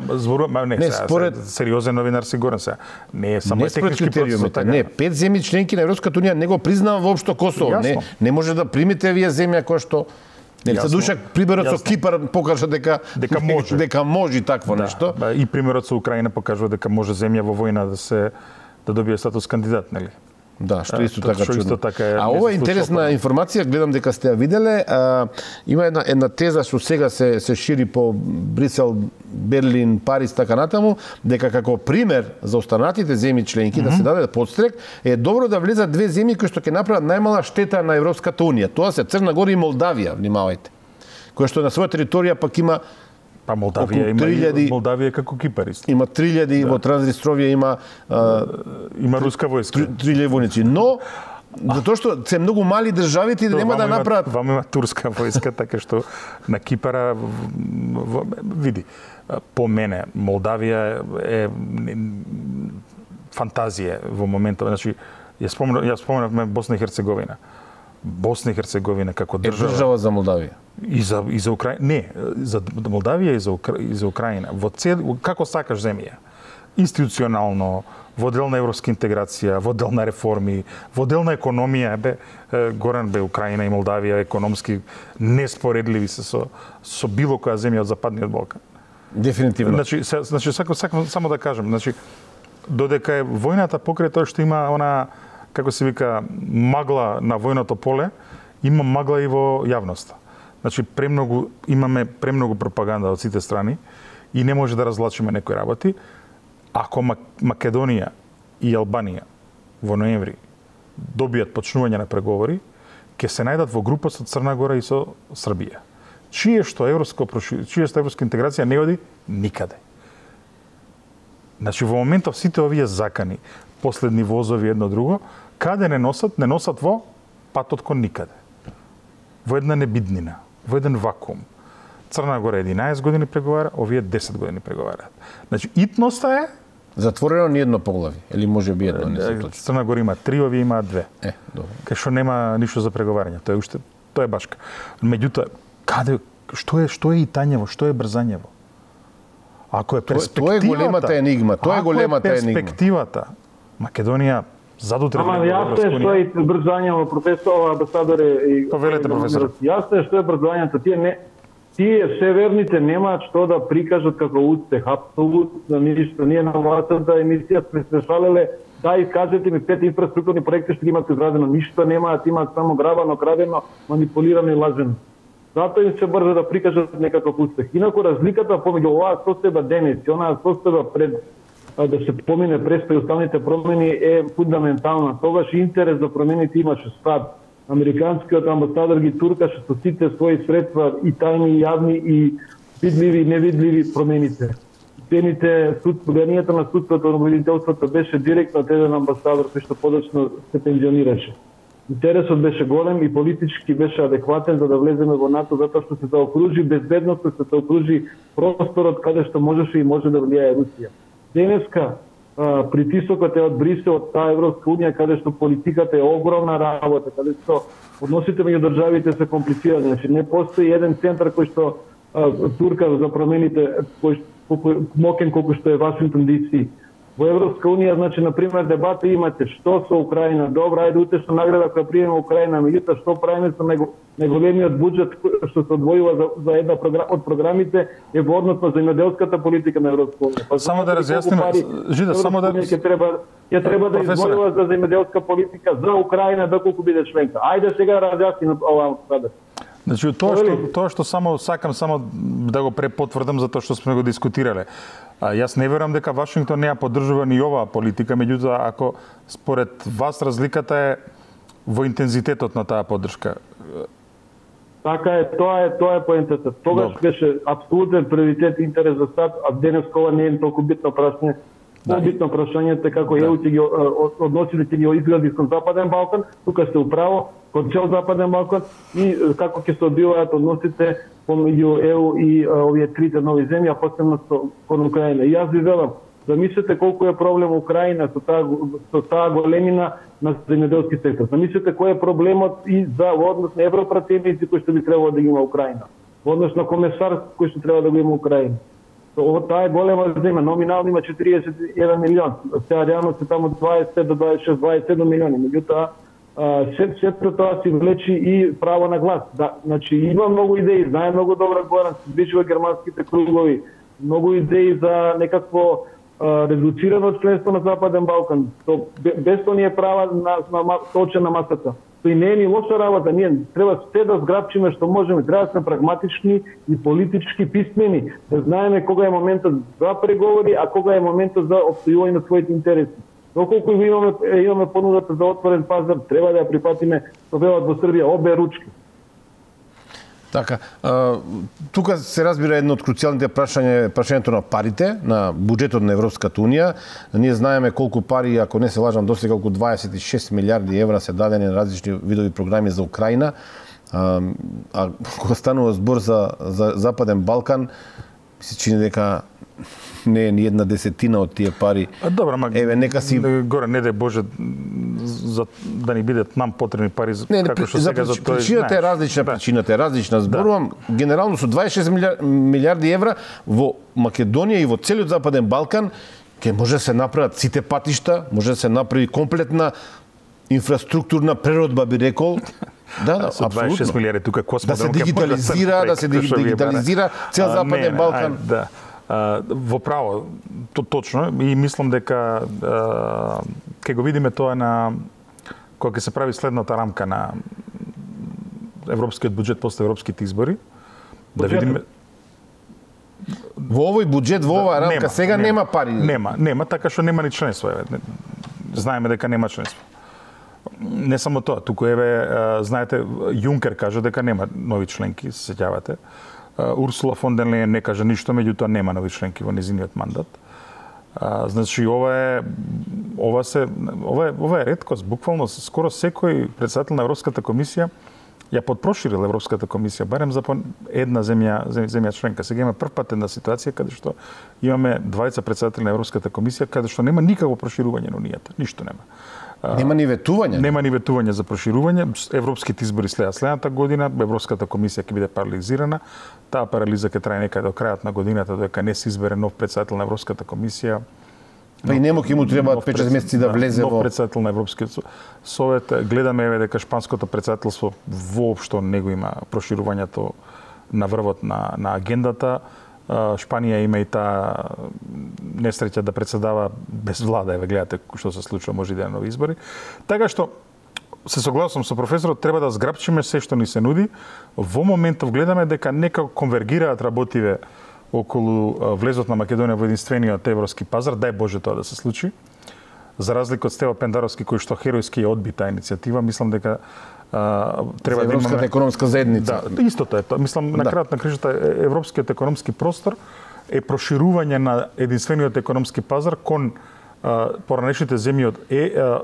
Според сериозен новинар сигурен се. Не е само технички процес. Не, 5 земји членки на Европската унија не го признава воопшто Косово. Не може да примите вие земја која што за душак примерот со Кипар покажа дека може такво нешто. И примерот со Украина покажува дека може земја во војна да добие статус кандидат, нели? Да, што исто така чудно. Така ова е интересна информација, гледам дека сте ја виделе. Има една теза што сега се шири по Брисел, Берлин, Париз, така натаму, дека како пример за останатите земји членки да се даде подстрек, е добро да влезат 2 земји кои што ќе направат најмала штета на Европската унија. Тоа се Црна Гора и Молдавија, внимавајте. Која што на своја територија пак има Молдавија како Кипар исто. Има 3000 во Транснистровија има руска војска. 3000 војници, но затоа што се многу мали државите и нема да направат. Вама има турска војска, така што на Кипара види. По мене Молдавија е фантазија во моментот, значи Ја споменавме Босна и Херцеговина. Босна и Херцеговина како држава. Држава за Молдавија. И за Украина. Не, за Молдавија и за Украина. Како сакаш земја. Институционално, во дел на европска интеграција, во дел на реформи, во дел на економија, Горан Украина и Молдавија економски неспоредливи се со било која земја од Западниот Балкан. Дефинитивно. Значи сакам само да кажам, додека е војната покрај тоа што има она, како се вика, магла на војното поле, има магла и во јавноста. Значи имаме премногу пропаганда од сите страни и не може да разлачиме некои работи. Ако Македонија и Албанија во ноември добијат почнување на преговори, ќе се најдат во група со Црна Гора и со Србија. Чие што европска интеграција не оди никаде. Значи во моментов сите овие закани, последни возови едно друго, каде не носат во патот кон никаде. Во една небиднина, во еден вакуум. Црна Гора 11 години преговара, овие 10 години преговараат. Значи итноста е затворено ни едно поглави, или може би едно, не се точно. Црна Гора има 3, овие имаат 2. Добро. Кај што нема ништо за преговарање, тоа е башка. Меѓутоа, што е итањево, што е брзањево? Ако е перспективата, тоа е големата енигма, перспективата, Македонија задутре. Ама јасно е што е брзањево, професор, амбасадоре и Повелете, професор. Јасно е што е брзањето. Тие северните немаат што да прикажат како успех, апсолутно ништо. Ние на вашата емисија сме се шалеле, кажете ми 5 инфраструктурни проекти што ги имате изградено, ништо немаат, имаат само грабано, крадено, манипулирано и лажено. Затоа им се брза да прикажат некаков успех. Инаку разликата помеѓу оваа состојба денес и онаа состојба пред да се помине престои уставните промени е фундаментална. Тогаш интерес за промените имаше стад. Американскиот амбасадор ги туркаше со сите своји средства и тајни и јавни и видливи и невидливи промените. Влијанието на судството на обвинителството беше директно од еден амбасадор кој што подоцна се пензионираше. Интересот беше голем и политички беше адекватен за да влеземе во НАТО, затоа што се заокружи безбедноста, се заокружи просторот каде што можеше и може да влијае Русија. Денеска притисокот е од Брисел, од таа Европска унија, каде што политиката е огромна работа, каде што односите меѓу државите се комплицирани. Значи не постои еден центар кој што турка за промените, кој мокен колку што е Вашингтон DC. Во Европска унија, значи, на пример, дебата имате што со Украина. Добра, ајде утешна награда која приема Украина, меѓутоа што правиме со најголемиот буџет што се одвојува за една од програмите е во однос на земјоделската политика на Европска унија. Само да разјасниме, Жида, само да ја треба да извојува за земјоделска политика за Украина доколку биде членка. Ајде сега разјасниме оваа сада. Значи, тоа што само сакам да го препотврдам за тоа што сме го дискутирале. Јас не верувам дека Вашингтон не ја поддржува ни оваа политика, меѓутоа ако според вас разликата е во интензитетот на таа поддршка. Така е, тоа е поентата. Тогаш беше апсолутен приоритет интерес за САД, а денес ова не е толку битно прашање. Битно прашањето е како ЕУ ќе ги односите ќе ги изгради кон Западен Балкан, тука сте управо, кон цел Западен Балкан и како ќе се одвиваат односите помеѓу ЕУ и овие трите нови земји, а посебно кон Украина. И јас ви велам, замислете колку е проблем Украина со таа големина на земјоделски сектор. Замислете кој е проблемот и за однос на европратеници кои што би требало да ги има Украина. Во однос на комесар кој што треба да го има Украина. Таа е голема земја, номинално има 41 милион. Сега реално се таму 20 до 26, 27 милиони. Меѓутоа, сето тоа си влечи и право на глас. Да, значи има многу идеи, знае многу добро Горан, се движи во германските кругови, многу идеи за некакво редуцирано членство на Западен Балкан. Без тоа ние права на точен на масата. Тоа не е ни лоша работа, ние треба се да зграбчиме што можеме, треба да сме прагматични и политички писмени, да знаеме кога е моментот за преговори, а кога е моментот за опстојување на своите интереси. Доколку имаме понудата за отворен пазар, треба да ја припатиме, што велат во Србија, обе ручки. Така, тука се разбира едно од круцијалните прашањето на парите, на буџетот на Европската унија. Ние знаеме колку пари, ако не се лажам, досега околу 26 милиарди евра се дадени на различни видови програми за Украина. А кога станува збор за Западен Балкан, ми се чини дека не е ни една десетина од тие пари. Добро, ама еве нека си горе не дај Боже за да ни бидат нам потребни пари како што сега за тој. Причината е различна, причината е различна. Зборувам генерално со 26 милиарди евра во Македонија и во целиот Западен Балкан ќе може да се направат сите патишта, може да се направи комплетна инфраструктурна преродба, би рекол. Да, апсолутно. 26 милиарди тука космодром да се дигитализира цел Западен Балкан. Да. Во право, точно, и мислам дека ќе го видиме тоа на кога ќе се прави следната рамка на европскиот буџет после европските избори. Да видиме во овој буџет, во оваа рамка сега нема пари. Нема, така што нема ни членство. Знаеме дека нема членство. Не само тоа, туку знаете, Јункер кажа дека нема нови членки, се сеќавате. Урсула фон дер Лејен не кажа ништо, меѓутоа нема нови членки во незиниот мандат. Значи ова е реткост, буквално скоро секој председател на Европската комисија ја подпроширил Европската комисија барем за една земја членка. Сега има прв пат една ситуација каде што имаме двајца председатели на Европската комисија каде што нема никакво проширување на унијата, ништо нема. Нема ни ветување. Нема ни ветување за проширување. Европските избори следната година, Европската комисија ќе биде парализирана. Таа парализа ќе трае некаде до крајот на годината додека не се избере нов председател на Европската комисија. Па и нему ќе му требаат 5 месеци да влезе во нов председател на Европскиот совет. Гледаме дека шпанското председателство воопшто не го има проширувањето на врвот на агендата. Шпанија има и таа несреќа да председава без влада, гледате што се случува, може да нови избори. Така што се согласувам со професорот, треба да зграпчиме се што ни се нуди. Во моментов гледаме дека некако конвергираат работиве околу влезот на Македонија во единствениот европски пазар, дај Боже тоа да се случи. За разлика од Стево Пендаровски кој што херојски ја одби таа иницијатива, мислам дека треба да Европската економска заедница. Да, истото е тоа. Мислам на крајот на кришата европскиот економски простор е проширување на единствениот економски пазар кон поранешните земји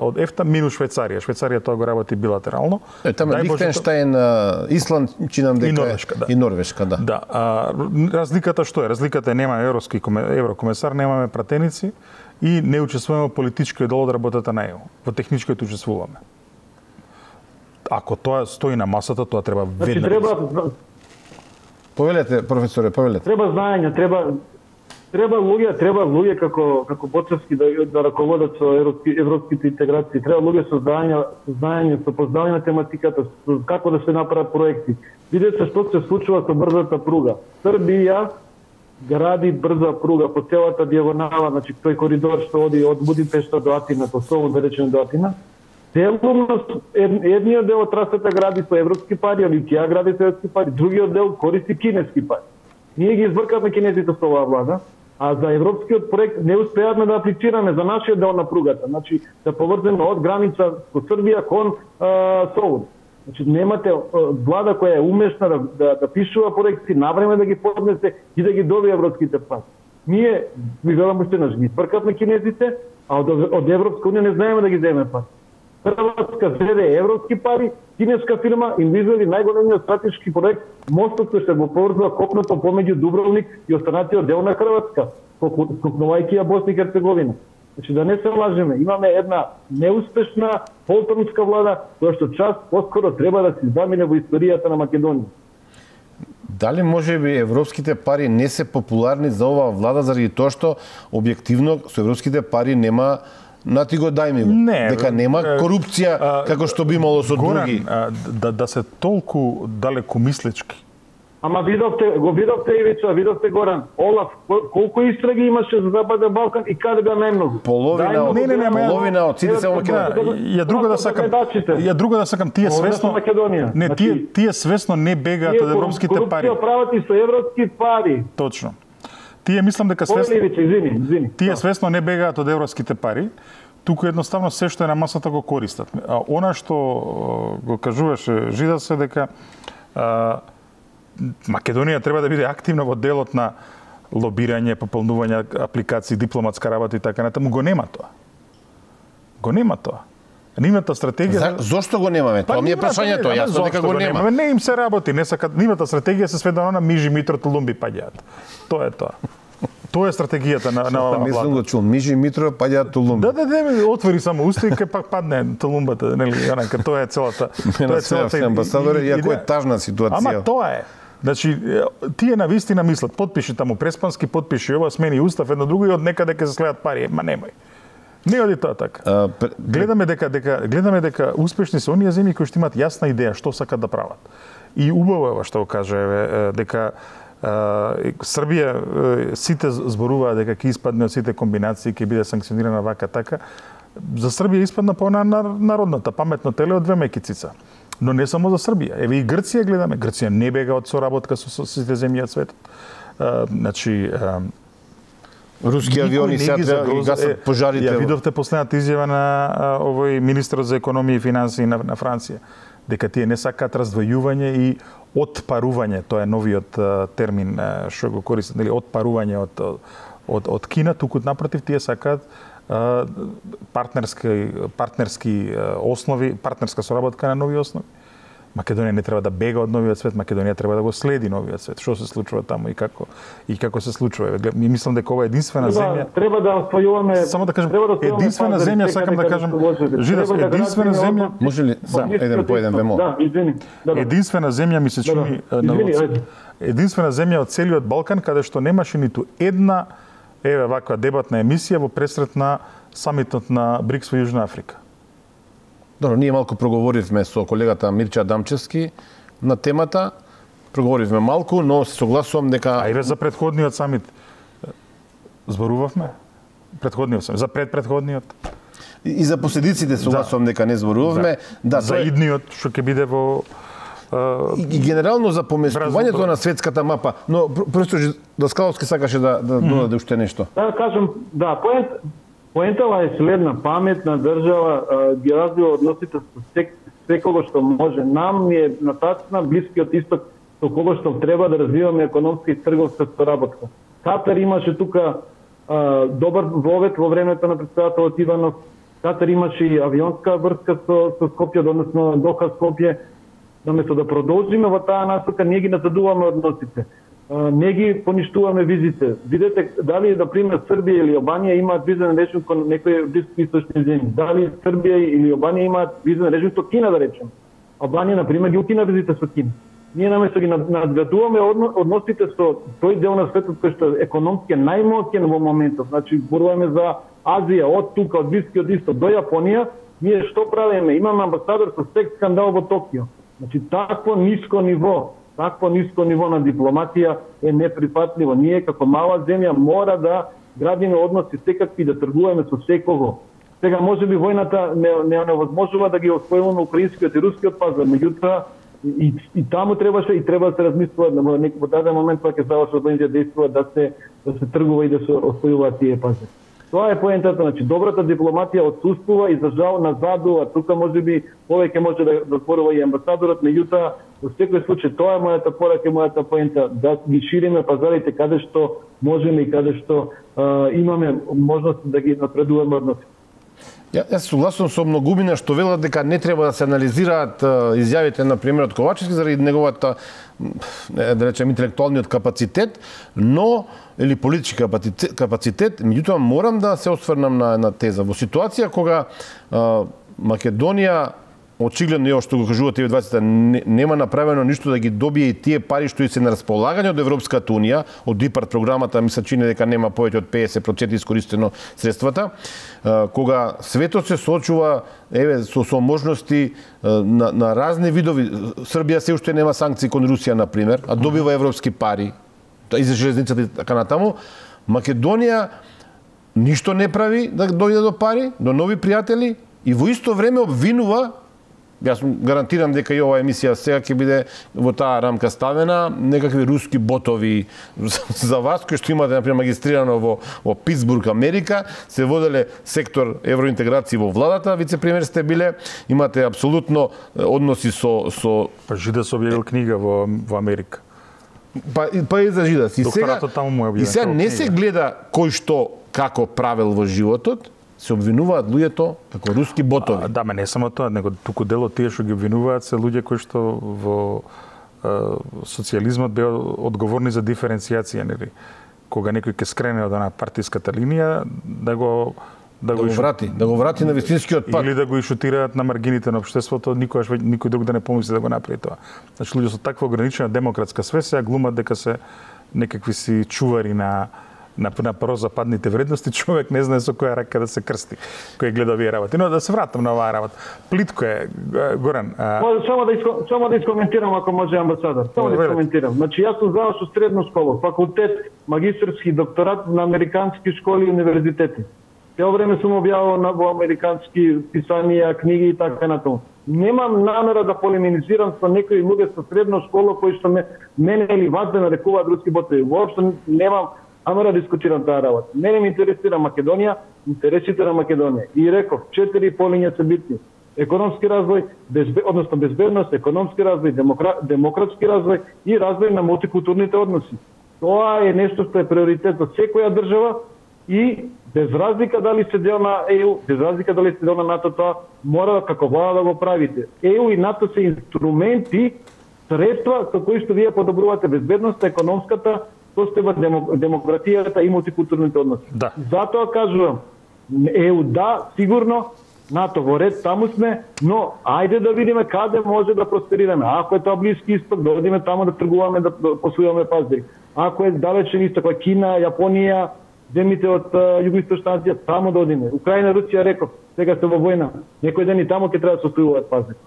од ЕФТА минус Швајцарија. Швајцарија тоа го работи билатерално. Тама Лихтенштајн, Исланд, чинам дека и Норвешка, да. Да, разликата што е? Разликата е нема еврокомесар, немаме пратеници и не учествуваме во политичкиот дел од работата на ЕУ. Во техничкиот учествуваме. Ако тоа стои на масата, тоа треба веднага. Повелете, професоре, повелете. Треба знаење, треба луѓе како Боцевски да раководат со европските интеграции. Треба луѓе со знаење, со познавање на тематиката, како да се направат проекти. Видете што се случува со брзата пруга. Србија гради брза пруга по целата дијагонала, значи тој коридор што оди од Будимпешта до Атина, тоа Солун да речеме до Атина. Едниот дел од трасата гради со европски пари, или таа гради со европски пари, другиот дел користи кинески пари. Ние ги избркавме кинезите со оваа влада, а за европскиот проект не успеавме да аплицираме за нашиот дел на пругата, значи да поврземе од граница со Србија кон Солун. Значи немате влада која е умешна да пишува проекти, навреме да ги поднесе и да ги добие европските пари. Ние, ви велам уште еднаш, ги избркавме кинезите, а од Европска унија не знаеме да ги земеме пари. Хрватска зеде европски пари, кинеска фирма им извели најголемиот стратешки проект, мостот кој се го поврзува копното помеѓу Дубровник и останатиот дел на Хрватска, скокнувајќи ја Босна и Херцеговина. Значи да не се лажеме, имаме една неуспешна полтронска влада која што час поскоро треба да се замине во историјата на Македонија. Дали може би европските пари не се популарни за оваа влада заради тоа што објективно со европските пари нема нати го дај ми го. Дека нема корупција како што би имало со други. Да се толку далеку мислечки. Ама го видовте Ивица, видовте Горан, Олаф, колку истраги имаше за Западен Балкан и каде беа најмногу? Половина од сите се во Македонија. Ја друго да сакам, тие свесно тие свесно не бегаат од европските пари. Корупција прават и со европски пари. Точно. Тие мислам дека свесно извини. Тие свесно не бегаат од европските пари, туку едноставно се што е на масата го користат. А она што го кажуваше Жида се дека Македонија треба да биде активна во делот на лобирање, пополнување апликации, дипломатска работа и така натаму, го нема тоа. Нивната стратегија Зошто го немаме? Тоа ми е прашањето, јасно дека го нема. Не им се работи, не сакат. Нивната стратегија се сведена на Мижи, Митро, Толумби паѓаат. Тоа е тоа. Тоа е стратегијата на оваа влада. Мислам го чул, Мижи, Митро паѓаат Толумби. Да, отвори само уста и кај пак падне Толумбата, нели, онака, тоа е целата. Тоа е целата амбасадор, иако е тажна ситуација. Ама тоа е. Значи, тие на вистина мислат, потпиши таму Преспански, потпиши ова, смени устав, едно друго и од некаде ќе се следат пари. Ма немај. Не оди тоа така. Гледаме дека успешни се оние земји кои што имаат јасна идеја што сакат да прават. И убаво е што го каже дека Србија сите зборуваат дека ќе испадне од сите комбинации, ќе биде санкционирана вака така. За Србија испадна по народната паметно теле од две мекицица. Но не само за Србија. Еве и Грција гледаме. Грција не бега од соработка со сите земји од светот. Значи, руски авиони сега треба да гасат пожарите. Ја видовте последната изјава на овој министер за економија и финансии на Франција, дека тие не сакаат раздвојување и отпарување, тоа е новиот термин што го користат, нели, отпарување од Кина, туку напротив тие сакаат партнерски основи, партнерска соработка на нови основи. Македонија не треба да бега од новиот свет, Македонија треба да го следи новиот свет. Што се случува таму и како се случува. Ми мислам дека ова е единствена земја. Треба да освојуваме. Само да кажам, единствена земја, сакам да кажам, Жидас, единствена земја. Може ли само еден по еден вемо? Да, извини. Единствена земја ми се чини единствена земја од целиот Балкан каде што немаше ниту една ваква дебатна емисија во пресрет на самитот на БРИКС во Јужна Африка. Добро, ние малку проговоривме со колегата Мирча Адамчевски на темата. Проговоривме малку, но се согласувам дека... А и за предходниот самит зборувавме? Предходниот самит, за предпредходниот? И за последиците согласувам дека не зборувавме. Да, за идниот, што ќе биде во... И генерално за поместувањето на светската мапа. Но просто Даскаловски сакаше да додаде уште нешто. Да кажам, да, поентава е следна, паметна држава ги развива односите со секого што може. Нам е нататна Блискиот исток со кого што треба да развиваме економска и трговска соработка. Катар имаше тука добар вовет во времето на претседателот Иванов. Катар имаше и авионска врска со Скопје, односно Доха Скопје. Наместо да продолжиме во таа насока, ние ги назадуваме односите. Не ги поништуваме визите. Видете дали, например, Србија или Албанија имаат визен режим кон некои блискоисточни земји. Дали Србија или Албанија имаат визен режим со Кина, да речем. Албанија, например, ги укина визите со Кина. Ние наместо ги надградуваме односите со тој дел на светот кој што економски е најмоќен во моментот. Значи, зборуваме за Азија, од тука, од Блискиот исток до Јапонија, ние што правиме? Имаме амбасадор со секс скандал во Токио. Значи, такво ниско ниво на дипломатија е неприфатливо. Ние како мала земја мора да градиме односи секакви, да тргуваме со секого. Сега може би војната не невозможува да ги освојуваме украинскиот и рускиот пазар, меѓутоа и таму треба да се размислува во даден момент кога ќе завршат војните дејства да се тргува и да се освојуваат тие пазари. Тоа е поентата, значи добрата дипломатија отсуствува и за жал назадува. Тука можеби повеќе може да зборува и амбасадорот, меѓутоа во секој случај тоа е мојата порака и мојата поента, да ги шириме пазарите каде што можеме и каде што имаме можност да ги напредуваме односи. Јас согласувам со многумина што велат дека не треба да се анализираат изјавите на премиерот Ковачевски заради неговата, да речем, интелектуалниот капацитет, но или политички капацитет, меѓутоа морам да се осврнам на една теза. Во ситуација кога Македонија очигледно е што го кажувате и 20 нема направено ништо да ги добие и тие пари што и се на располагање од Европската унија, од ИПАРД програмата, ми се чини дека нема повеќе од 50% искористено средствата, кога светот се соочува со можности на разни видови. Србија се уште нема санкции кон Русија, на пример, а добива европски пари и за железницата и така натаму. Македонија ништо не прави да дојде до пари, до нови пријатели и во исто време обвинува. Јас гарантирам дека и оваа емисија сега ќе биде во таа рамка ставена, некакви руски ботови за вас, кои што имате, например, магистрирано во Питсбург, Америка, се воделе сектор евроинтеграција во владата, вице-премиер сте биле, имате апсолутно односи со... Па Жидас објавил книга во Америка. Па и за Жидас. И сега не се гледа кој што како правил во животот, се обвинуваат луѓето како руски ботови. Да, не само тоа, него туку дел од тие што ги обвинуваат се луѓе кои што во социјализмот беа одговорни за диференцијација, нели? Кога некој ќе скрене од она партиската линија, да го врати на вистинскиот пат. Или да го ишутираат на маргините на општеството, никој друг да не помисли да го направи тоа. Значи, луѓе со таква ограничена демократска свест сега глумат дека се некакви си чувари на прозападните вредности, човек не знае со која рака да се крсти, кој гледа овие работи. Но да се вратам на оваа работа. Плитко е, Горан. Само да искоментирам, ако може, амбасадор. Само да искоментирам. Значи, јас сум завршил средна школа, факултет, магистарски докторат на американски школи и универзитети. Цело време сум објавувал во американски писанија, книги и така натаму. Немам намера да полеминизирам со некои луѓе со средна школа кои што мене или вас да нарекуваат руски ботови. Воопшто немам намера да дискутирам таа работа. Мене ме интересира Македонија, интересите на Македонија. И реков, 4 полиња се битни. Економски развој, односно безбедност, економски развој, демократски развој и развој на мултикултурните односи. Тоа е нешто што е приоритет за секоја држава и без разлика дали се дел на ЕУ, без разлика дали се дел на НАТО, тоа мора како влада да го правите. ЕУ и НАТО се инструменти, средства со кои што вие подобрувате безбедноста, економската, состојба, демократијата и мултикултурните односи. Да. Затоа кажувам, ЕУ да, сигурно, НАТО во ред, таму сме, но ајде да видиме каде може да просперираме. Ако е тоа Блиски исток, да одиме таму да тргуваме, да посујаме пазари. Ако е далечен исток, Кина, Јапонија, земите од Југоисточна Азија, таму да одиме. Украина, Русија, реков, сега се во војна. Некој ден и таму ќе треба да се состојуваат пазари.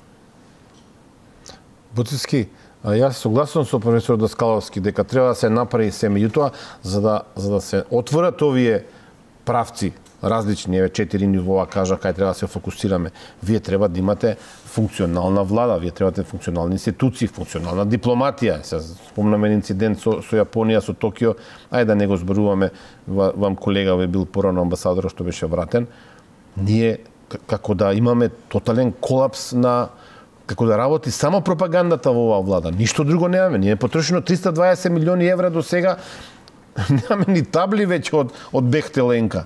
Буцевски, јас согласувам со професор Даскаловски дека треба да се направи се, меѓутоа за да се отворат овие правци различни, 4 нивоа кажа кај треба да се фокусираме. Вие треба да имате функционална влада, вие треба да имате функционални институции, функционална дипломатија. Се спомнаме инцидент со Јапонија, со Токио, ајде да не го зборуваме, вам колега бил порано амбасадор што беше вратен. Ние како да имаме тотален колапс на како да работи само пропагандата во оваа влада. Ништо друго немаме. Ние потрошено 320 милиони евра до сега. Немаме ни табли веќе од Бехтеленка.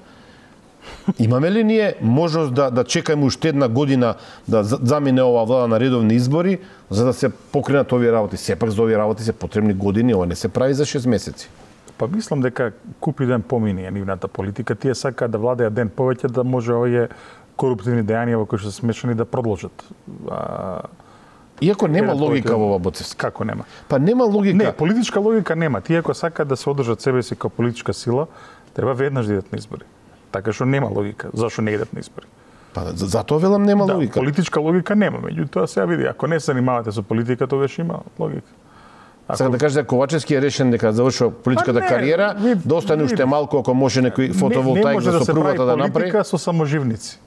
Имаме ли ние можност да чекаме уште една година да замине оваа влада на редовни избори за да се покренат овие работи? Сепак за овие работи се потребни години, ова не се прави за 6 месеци. Па мислам дека купи ден помини нивната политика. Тие сакаат да владеат ден повеќе да може овие коруптивни дејанија во кои што се смешани да продолжат. Иако нема логика во ова, Буцевски. Како нема? Па нема логика. Не, политичка логика нема. Тие ако сакаат да се одржат себе си како политичка сила, треба веднаш да идат на избори. Така што нема логика. Зашо не идат на избори? Па затоа велам нема логика. Да, политичка логика нема. Меѓутоа сега види, ако не се занимавате со политика, тогаш има логика. Сега да кажеш дека Ковачевски е решен дека завршува политичката кариера, да остане уште малку ако може некој фотоволтаик за сопругата да направи. Политика со саможивници.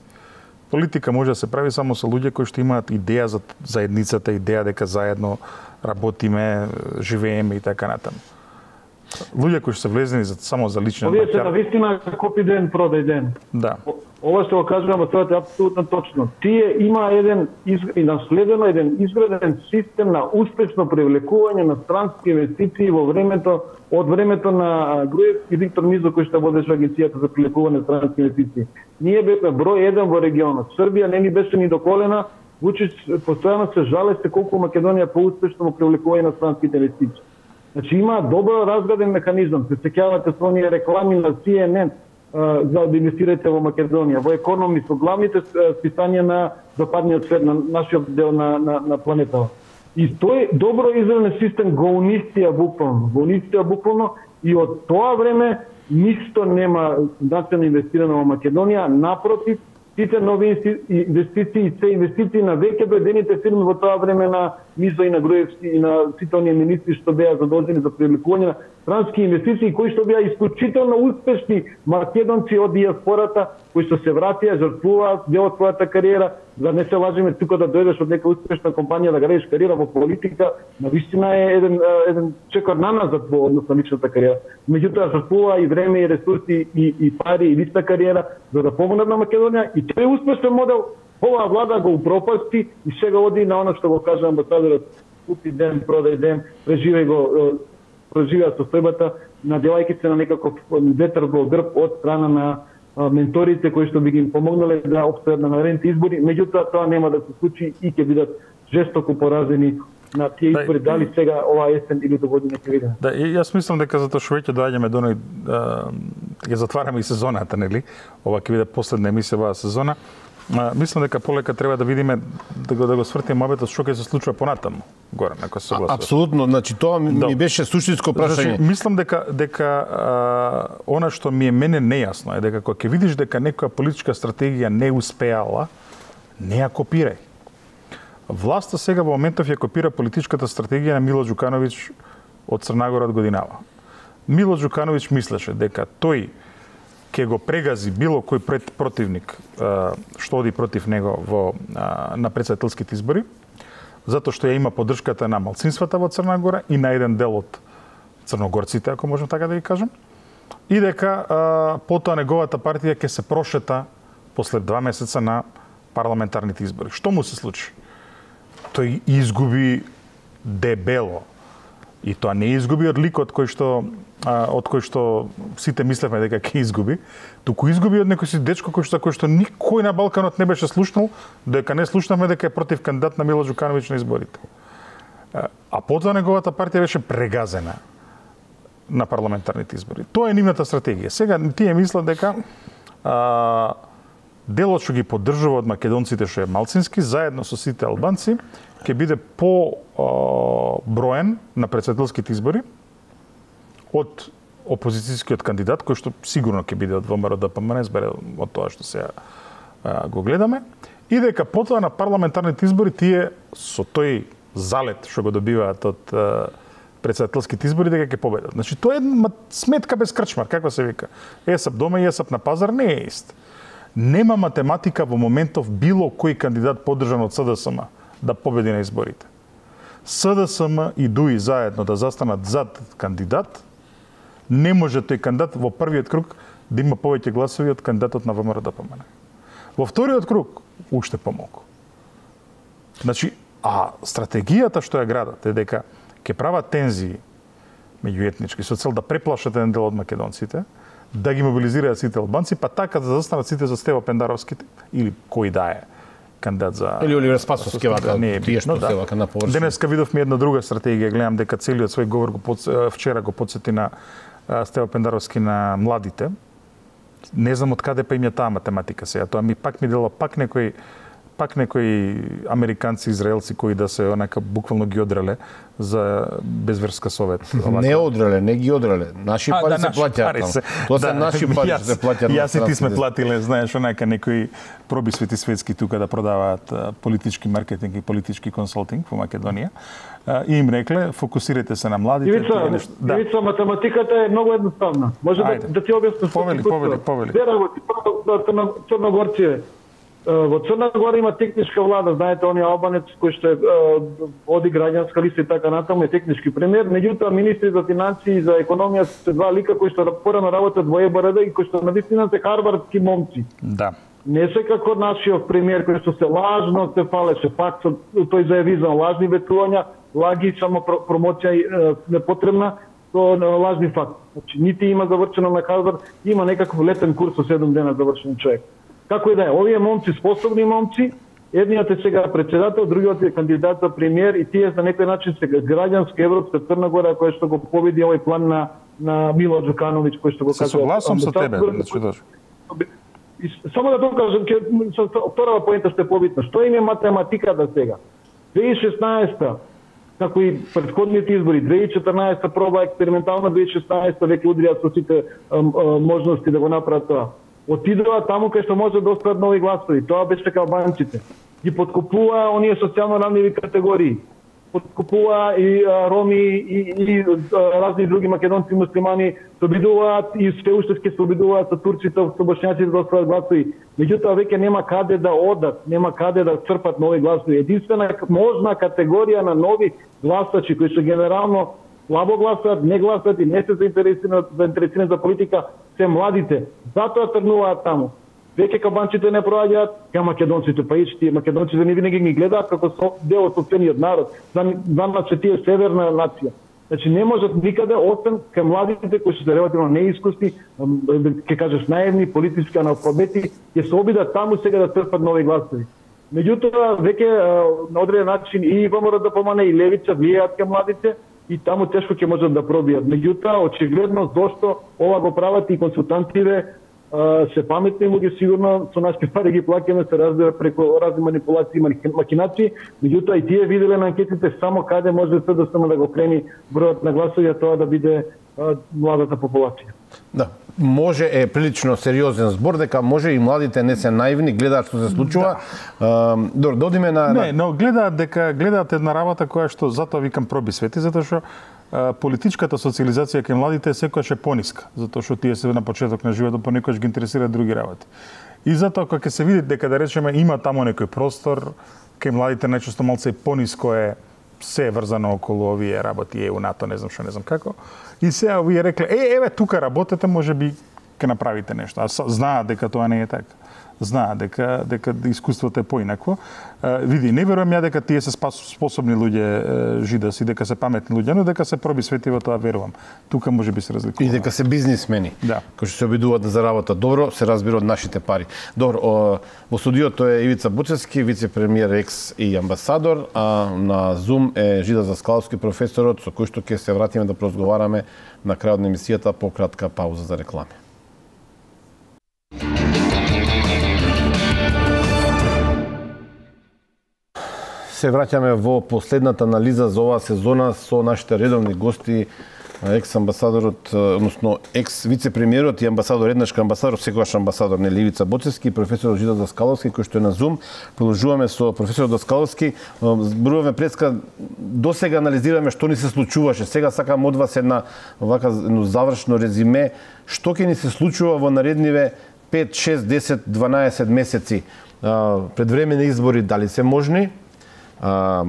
Политика може да се прави само со луѓе кои што имаат идеја за заедницата, идеја дека заедно работиме, живееме и така натаму. Луѓе кои што се влезени само за лична Овие се навистина копи ден, продај ден. Да. Ова што го кажувам, тоа е апсолутно точно. Тие има еден наследено еден изграден систем на успешно привлекување на странски инвестиции во времето од времето на Груевски и Виктор Мизо кој што водеше агенцијата за привлекување на странски инвестиции. Ние бевме број 1 во регионот. Србија не ни беше ни до колена, Вучич постојано се жалеше колку Македонија поуспешно во привлекување на странските инвестиции. Значи има добро разграден механизам. Се сеќавате со оние реклами на CNN за да инвестирате во Македонија, во Економист, во главните списанија на западниот свет, на нашиот дел на планетава. И тој добро изграден систем го унистија буквално, и од тоа време ништо нема национално инвестирано во Македонија, напротив, сите нови инвестиции, се инвестиции на веќе дојдените фирми во тоа време на Мизо и на Груевски и на сите оние министри што беа задолжени за привлекување на странски инвестиции кои што беа исклучително успешни македонци од диаспората кои што се вратија, жртвуваат дел од својата кариера, да не се лажеме тука да дојдеш од нека успешна компанија да градиш кариера во политика, навистина е еден чекор на назад во однос на личната кариера. Меѓутоа жртвува и време и ресурси и пари и лична кариера за да помогнат на Македонија и тој успешен модел оваа влада го упропасти и сега оди на она што го кажа амбасадорот, купи ден, продај ден, преживеа состојбата, надевајќи се на некаков ветер во грб од страна на менторите кои што би ги помогнале да обстојат на наредните избори, меѓутоа тоа нема да се случи и ќе бидат жестоко поразени на тие избори, дали сега оваа есен или до година ќе видиме. Да, јас мислам дека затоа што веќе доаѓаме до оној ќе затвараме и сезоната, нели? Ова ќе биде последна емисија оваа сезона. Мислам дека полека треба да видиме да го свртиме мобетот што ќе се случува понатаму. Горе, ако се согласува. Апсолутно, значи тоа ми беше суштинско прашање. Мислам дека она што ми е мене нејасно е дека кога ќе видиш дека некоја политичка стратегија не успеала, не ја копирај. Власта сега во моментов ја копира политичката стратегија на Мило Џукановиќ од Црнагора од годинава. Мило Џукановиќ мислеше дека тој ќе го прегази било кој противник што оди против него на претседателските избори, затоа што ја има поддршката на малцинствата во Црна Гора и на еден дел од црногорците, ако можам така да ги кажам, и дека потоа неговата партија ќе се прошета после 2 месеца на парламентарните избори. Што му се случи? Тој изгуби дебело. И тоа не изгуби од ликот од кој што сите мислевме дека ќе изгуби, туку изгуби од некој си дечко кој што никој на Балканот не беше слушнал, дека не слушнавме дека е против кандидат на Мило Џукановиќ на изборите. А потоа неговата партија беше прегазена на парламентарните избори. Тоа е нивната стратегија. Сега тие мислат дека делот што ги поддржува од македонците што е малцински, заедно со сите албанци, ќе биде по-броен на претседателските избори од опозицијскиот кандидат, кој што сигурно ќе биде од ВМРО ДПМН, збере од тоа што сега го гледаме, и дека потоа на парламентарните избори тие со тој залет што го добиваат од претседателските избори дека ќе победат. Значи тоа е сметка без крчмар, каква се вика. Есап дома и есап на пазар не е ист. Нема математика во моментов било кој кандидат поддржан од СДСМ да победи на изборите. СДСМ и ДУИ заедно да застанат зад кандидат, не може тој кандидат во првиот круг да има повеќе гласови од кандидатот на ВМРО ДПМН. Во вториот круг уште помалку. Значи, стратегијата што ја градат е дека ќе прават тензии меѓуетнички со цел да преплашат еден дел од македонците, да ги мобилизираат сите албанци, па така да застанат сите за Стево Пендаровските или кој да е кандидат за или Оливер Спасовски вака, тие што се вака на површина. Денеска видовме една друга стратегија, гледам дека целиот свој говор вчера го подсети на Стево Пендаровски на младите. Не знам од каде па им е таа математика сега. Тоа ми дела пак некои американци, израелци кои да се онака буквално ги одреле за безверска совет. Не одреле, не ги одреле. Наши пари се плаќаат таму. Тоа се наши пари се плаќаат. Јас и ти сме платиле, знаеш, онака некои пробисвети светски тука да продаваат политички маркетинг и политички консултинг во Македонија. И им рекле, фокусирайте се на младите. Ивица, математиката е многу едноставна. Може да ти објаснам. Повели. Црногорци, во Црна Гора има техничка влада, знаете, оние албанец кој што оди граѓанска листа и така натаму е технички премиер, меѓутоа министри за финансии и за економија се два лика кои што порано работат во ЕБРД и кои што навистина се харвардски момци. Да. Не се како нашиот премиер кој што се лажно се фалеше, пак тој зајави за лажни ветувања, лаги, само промоција непотребна, со лажни факти. Значи, нити има завршено на Харвард, има некаков летен курс со 7 дена завршен човек. Како и да е, овие момци, способни момци, едниот е сега председател, другиот е кандидат за премиер и тие за некој начин сега граѓанска европска Црна Гора која што го победи овој план на Мило Џукановиќ кој што го кажа. Се согласувам со тебе, Само да тоа кажам, втората поента што е побитна. Што им е математиката сега? 2016 како и претходните избори, 2014 проба експериментална, 2016 веќе удрија со сите можности да го направат тоа. Отидува таму кај што може да остават нови гласови. Тоа беше дека албанците ги подкупува оние социјално ранливи категории. Подкупува и роми и разни други македонци муслимани, се обидуваат и се уште ќе се обидуваат со турците, со бошњаците да остават гласови. Меѓутоа веќе нема каде да одат, нема каде да црпат нови гласови. Единствена можна категорија на нови гласачи кои што генерално слабо гласат, не гласат и не се заинтересирани за политика, се младите. Затоа тргнуваат таму. Веќе кабанците не проаѓаат, ка македонците, па ичти, македонците не винаги ги гледаат како дел од сопствениот народ. За нас тие северна нација. Значи не можат никаде освен кај младите кои се релативно неискусни, ќе кажеш наивни, политички аналфабети, ќе се обидат таму сега да трпат нови гласови. Меѓутоа веќе на одреден начин и ВМРО да помане и левица влијаат кај младите и таму тешко ќе можат да пробијат. Меѓутоа очигледно зошто ова го прават и консултантите се паметни луѓе, сигурно со нашите пари ги плаќаме, се разбира преку разни манипулации и макинации, меѓутоа и тие виделе на анкетите само каде може да го крени бројот на гласови, тоа да биде младата популација. Да, може е прилично сериозен збор, дека може и младите не се наивни, гледаат што се случува. Добро, да одиме на... Не, но гледаат една работа која што, затоа викам проби свети, затоа што политичката социализација кај младите е секогаш е пониска, затоа што тие се на почеток на животот понекогаш ги интересираат други работи. И затоа кога ќе се види дека да речеме има таму некој простор, кај младите најчесто малце пониско е се врзано околу овие работи, ЕУ, НАТО, не знам што, не знам како. И сега овие рекле, еве тука работете, можеби ќе направите нешто. А знаат дека тоа не е така. Знаат дека искуството е поинакво. Види, не верувам ја дека тие се способни луѓе жидаси, дека се паметни луѓе, но дека се проби свети во тоа верувам. Тука можеби се разликува. И дека се бизнисмени, да, кои што се обидуваат да заработат добро, се разбира од нашите пари. Добро, во студиото е Ивица Буцевски, вице-премиер, екс и амбасадор, а на Zoom е Жида Заскаловски, професорот, со кој што ќе се вратиме да поразговараме на крајот на емисијата по кратка пауза за реклами. Се враќаме во последната анализа за оваа сезона со нашите редовни гости, екс-амбасадорот, односно екс-вице-премиерот и амбасадор, еднашка амбасадор, секогаш амбасадор, нели, Ивица Буцевски, професорот Жида Даскаловски, кој што е на Zoom. Продолжуваме со професорот Даскаловски. Зборуваме преска, досега анализираме што ни се случуваше. Сега сакам од вас едно завршно резиме. Што ќе ни се случува во наредниве 5, 6, 10, 12 месеци? Предвременни избори дали се можни?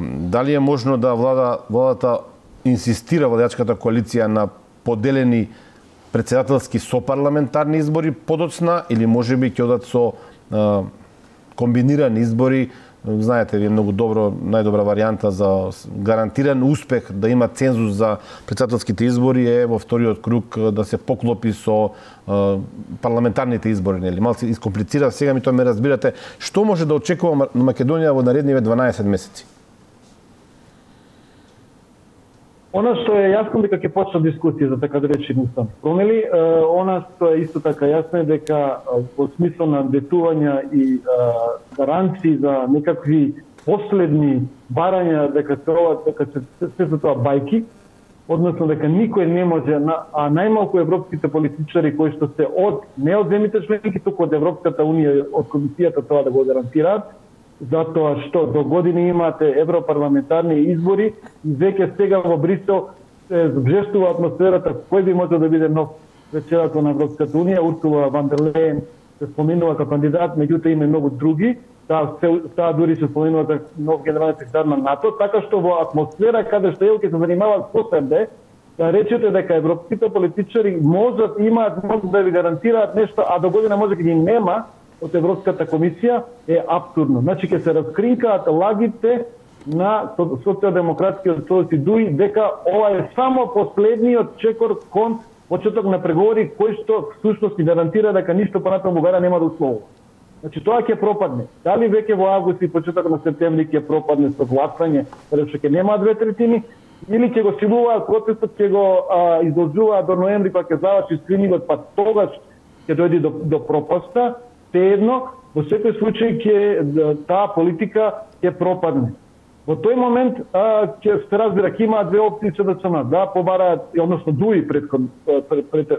Дали е можно да владата инсистира, владачката коалиција, на поделени претседателски со парламентарни избори подоцна, или можеби ќе одат со комбинирани избори? Знаете, ви е многу добро, најдобра варијанта за гарантиран успех да има цензус за претседателските избори е во вториот круг да се поклопи со парламентарните избори, нели? Малку искомплицира, сега ми тоа ме разбирате. Што може да очекува Македонија во наредниве 12 месеци? Она што е јасно дека ќе почне дискусија за така да речени уставни промени, она што е исто така јасно е дека во смисла на ветувања и гаранции за некакви последни барања дека се тоа бајки, односно дека никој не може, а најмалку европските политичари кои што се не од земјите членки, туку од Европската унија, од комисијата тоа да го гарантираат, затоа што до години имате европарламентарни избори и веќе сега во Брисел се зжестува атмосферата кој би можел да биде нов председател на Европската унија. Урсула ван дер Лејен се споминува како кандидат, меѓутоа има многу други. Таа дури се споминува за нов генерален секретар на НАТО, така што во атмосфера каде што ќе се занимаваат со себе, да речете дека европските политичари можат да ви гарантираат нешто, а до година може да ги нема од Европската комисија, е апсурдно. Значи ќе се раскринкаат лагите на социјалдемократскиот Сојуз Дуи дека ова е само последниот чекор кон почеток на преговори кој што всушност ни гарантира дека ништо понатаму Бугарија нема да условува. Значи тоа ќе пропадне. Дали веќе во август и почеток на септември ќе пропадне со гласање, каде што ќе нема 2/3, или ќе го силуваат процесот, ќе го изложуваат до ноември кога ќе заврши скринингот, па тогаш ќе дојде до пропаста. Едно, во секој случај таа политика ќе пропадне. Во тој момент ќе се разбира ќе имаат две опции да побараат, односно Дуи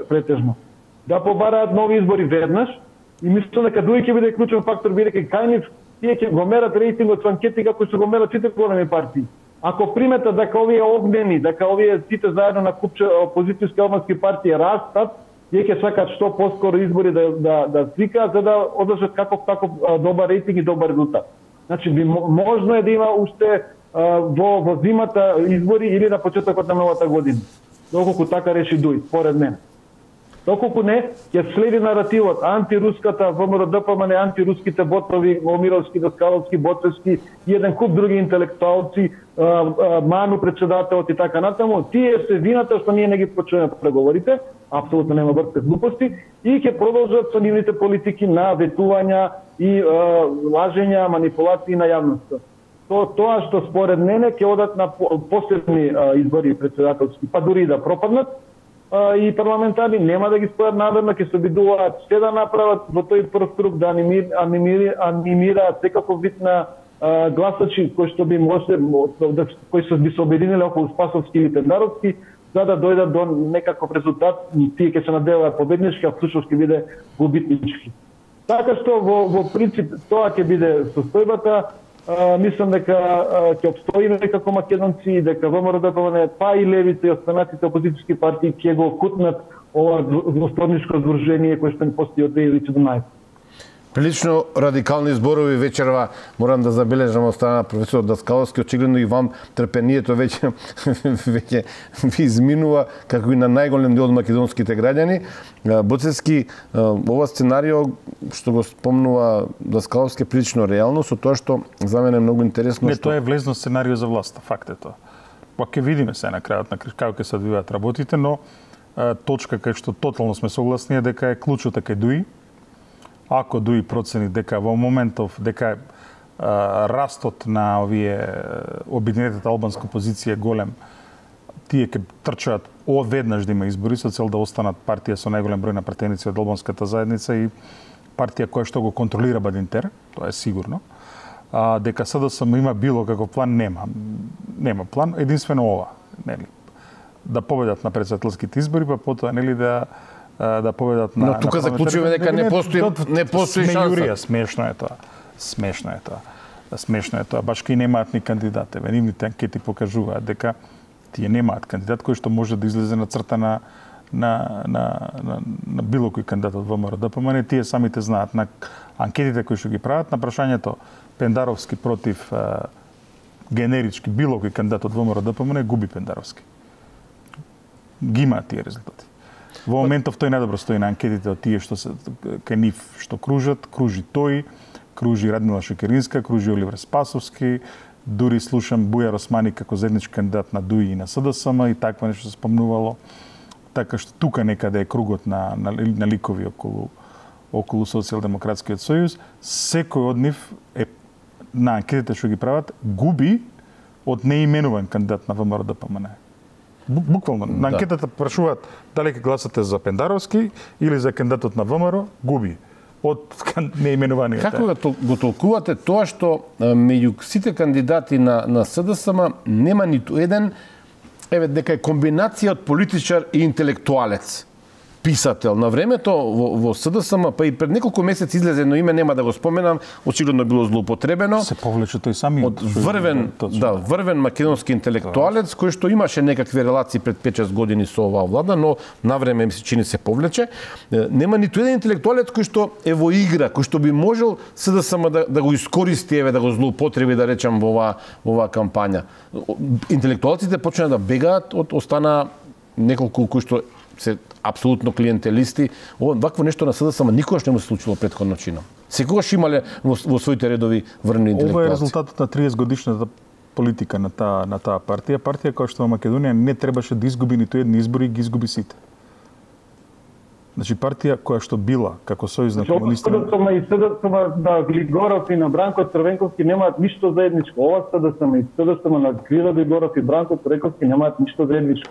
претежно, да побараат нови избори веднаш и мислам дека Дуи ќе биде клучен фактор, бидејќи кај нив тие ќе го мерат рейтингот со анкети како што го мерат сите големи партии. Ако приметат дека овие огнени, дека овие сите заедно на купче опозицијски албански партии растат, тие ќе сакаат што поскоро избори да свикаат за да одржат таков добар рейтинг и добар резултат. Значи можно е да има уште во зимата избори или на почетокот на новата година. Доколку така реши Дуи, според мене. Доколку не, ќе следи наративот антируската ВМРО-ДПМН, антируските ботови, Момировски, Даскаловски, Боцевски и еден куп други интелектуалци, Ману председателот и така натаму, тие се вината што ние не ги почнеме преговорите, апсолутно нема врска глупости, и ќе продолжат со нивните политики на ветувања и лажења, манипулации на јавноста. Тоа што според мене ќе одат на последни избори председателски, па дури и да пропаднат, и парламентарни нема да ги спојат намерно, ќе се обидуваат се да направат во тој прв круг, да анимираат секаков вид на гласачи кои што би може кои што би се обединиле околу Спасовски или Пендаровски, за да дојдат до некаков резултат, тие ќе се надеваат победнички, а всушност ќе биде губитнички. Така што во принцип тоа ќе биде состојбата. Мислам дека ќе обстоиме како македонци, дека ВМРО-ДПМН, па и левите и останатите опозицијски партии ќе го кутнат ова двосторничко здружение кое што ни постои од 2017. Прилично радикални зборови вечерва, морам да забележам од страна на професор Даскаловски, очигледно и вам трпението веќе ви изминува, како и на најголем дел од македонските граѓани. Боцевски, ова сценарио што го спомнува Даскаловски е прилично реално, со тоа што за мене е многу интересно. Не, тоа е влезно сценарио за власта, факт е тоа. Па ќе видиме се на крајот на како ќе се одвиваат работите, но точка кај што тотално сме согласни е дека е клучот кај Дуи. Ако Дуи процени дека во моментов дека растот на овие обединетата албанска опозиција е голем, тие ќе трчаат одведнаш да има избори со цел да останат партија со најголем број на пратеници од албанската заедница и партија која што го контролира Бадинтер, тоа е сигурно. Дека СДСМ има било како план, нема план, единствено ова, нели, да победат на претседателските избори, па потоа нели да победат на. Но тука заклучуваме дека не постои шанса. Смешно е тоа. Баш кај немаат ни кандидат. Нивните анкети покажуваат дека тие немаат кандидат кој што може да излезе на црта на било кој кандидат од ВМРО-ДПМН. Тие самите знаат на анкетите кои што ги прават на прашањето Пендаровски против генерички било кој кандидат од ВМРО-ДПМН, губи Пендаровски. Ги имаат тие резултати. Во моментов тој најдобро стои на анкетите од тие што се кај нив што кружат, кружи тој, кружи Радмила Шекеринска, кружи Оливер Спасовски, дури слушам Бујар Османи како заеднички кандидат на ДУИ и на СДСМ и таква нешто се спомнувало. Така што тука некаде е кругот на ликови околу Социјалдемократскиот сојуз. Секој од нив е на анкетите што ги прават губи од неименуван кандидат на ВМРО-ДПМН. Буквално, на анкетата прашуваат дали ќе гласате за Пендаровски или за кандидатот на ВМРО, губи од неименуваниот. Како го толкувате тоа што меѓу сите кандидати на СДСМ нема ниту еден, дека е комбинација од политичар и интелектуалец, писател. На времето во СДСМ, па и пред неколку месеци излезе едно име, нема да го споменам, очигледно било злоупотребено. Се повлече тој самиот. Од врвен македонски интелектуалец кој што имаше некакви релации пред 5-6 години со оваа влада, но навреме ми се чини се повлече. Нема ниту еден интелектуалец кој што е во игра, кој што би можел СДСМ да го искористи, да го злоупотреби, да речам, во оваа кампања. Интелектуалците почнаа да бегаат, остана неколку кои што се апсолутно клиентелисти. Вакво нешто на СДСМ никогаш не му се случило претходно чино. Секогаш имале во своите редови врвни интелектуалци. Ова е резултатот на 30 годишната политика на таа партија. Партија која што во Македонија не требаше да изгуби ниту едни избори и ги изгуби сите. Значи партија која што била како сојуз на комунисти. СДСМ на Глигоров и на Бранко Црвенковски немаат ништо заедничко. Ова СДСМ на Крила Глигоров и Бранко Црвенковски немаат ништо заедничко.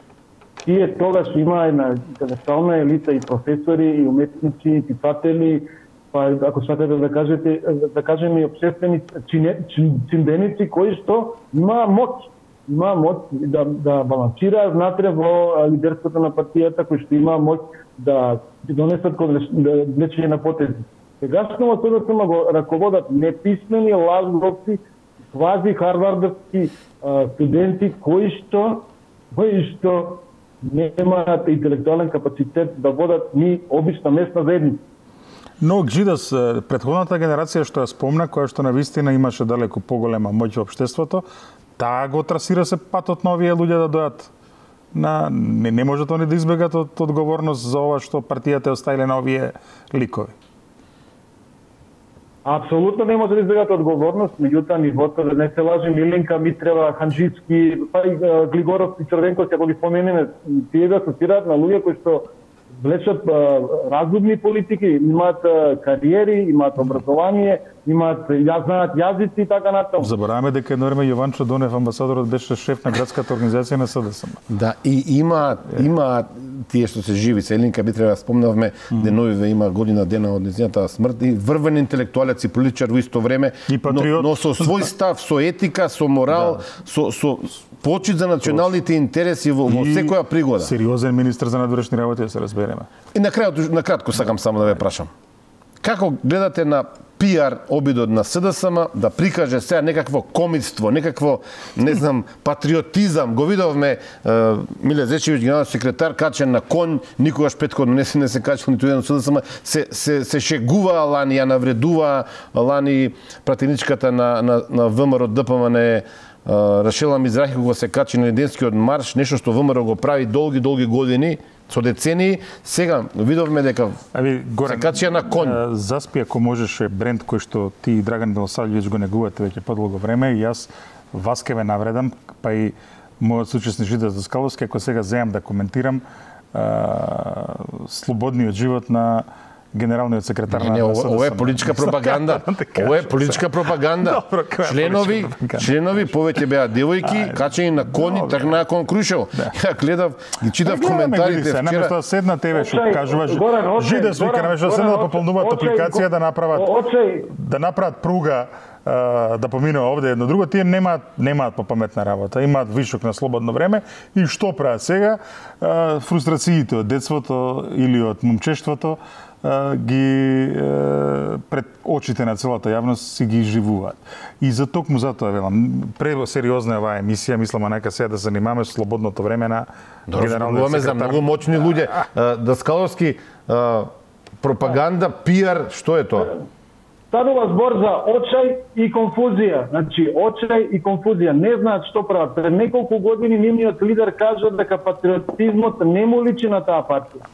Тие тогаш имаа една интелектуална елита и професори, и уметници, и писатели, па ако сакате да кажем и општествени чимбеници кои што имаа моќ да балансираат внатре во лидерството на партијата, кои што имаа моќ да донесат влечење на потези. Сегашно СДСМ го раководат неписмени лажговци, квази харвардовски студенти кои што немаат интелектуален капацитет да водат ни обична местна заедница. Но Гжидас, претходната генерација што ја спомна, која што навистина имаше далеку поголема моќ во општеството, таа го трасира се патот на овие луѓе да дојат не можат они да избегат од одговорност за ова што партијата оставиле на овие ликови. Апсолутно не може да избегат одговорност, меѓутоа нивото, да не се лажи Милинка, Митрева, Ханџицки, па и Глигоров и Црвенковски, ако ги споменеме, тие да асоцираат на луѓе кои што влечат разумни политики, имаат кариери, имаат образование, имаат знаат јазици и така натаму. Забораваме дека едно време Јованчо Донев, амбасадорот, беше шеф на градската организација на СДСМ. Да, и има тие што се живи, Елинка Митрева спомнавме, деновиве има година дена од нејзината смрт, и врвен интелектуалец и политичар во исто време, но со свој став, со етика, со морал, со почит за националните интереси во секоја пригода. Сериозен министер за надворешни работи, да се разбереме. И на кратко сакам само да ве прашам. Како гледате на пиар обидот на СДСМ да прикаже сега некакво комитство, некакво, не знам, патриотизам? Го видовме Миле Зечевиќ, генерален секретар, качен на конј, никогаш претходно не се качил ниту еден СДСМ, се шегува лани, ја навредува лани пратеничката на ВМРО ДПМН Рашела Мизрахи, кога се качи на Неденскиот марш, нешто што ВМРО го прави долги години, со децении. Сега видовме дека се качија на конј. Заспи, ако можеше, бренд кој што ти и Драган Милосавлjević го негувате веќе подолго време, и јас вас ке ве навредам, па и мојот соучесник Жида Даскаловски, ако сега земам да коментирам слободниот живот на генералниот секретар на СДСМ. Ова е политичка пропаганда. Ова е политичка пропаганда. Членови повеќе беа девојки, качени на коњи, тргнаа кон Крушево. Ја гледав, ги читав коментарите вчера. Наместо седна тебе што кажуваш, Жида свика, наместо седна да пополнуваат апликација, да направат пруга да поминува овде едно друго, тие немаат попаметна работа, имаат вишок на слободно време и што прават сега? Фрустрациите од детството или од момчештвото ги пред очите на целата јавност си ги живуваат. И за токму затоа велам, пресериозна е оваа емисија, мислам нека сега да занимаваме слободното време на генералниот секретар. За многу моćни луѓе. Даскаловски, пропаганда, пиар, што е тоа? Станува збор за очај и конфузија. Значи, очај и конфузија. Не знаат што прават. Пред неколку години нивниот лидер кажа дека патриотизмот не му личи на таа партија.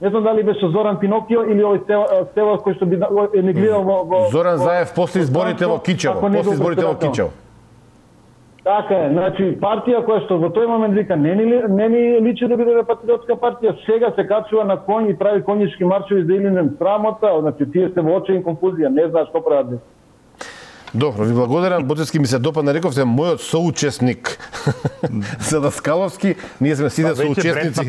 Не знам дали беше Зоран Пинокио или овој Стевас кој што би не гледал во Зоран Заев после изборите во Кичево. Така е, значи партија која што во тој момент вика не ни личи да биде патриотска партија, сега се качува на конј и прави конјички маршови за Илинден, срамота, значи тие се во очај и конфузија, не знаат што прават. Добро, ви благодарам. Боцевски ми се допадна, рековте мојот соучесник за Даскаловски. Ние сме сите соучесници.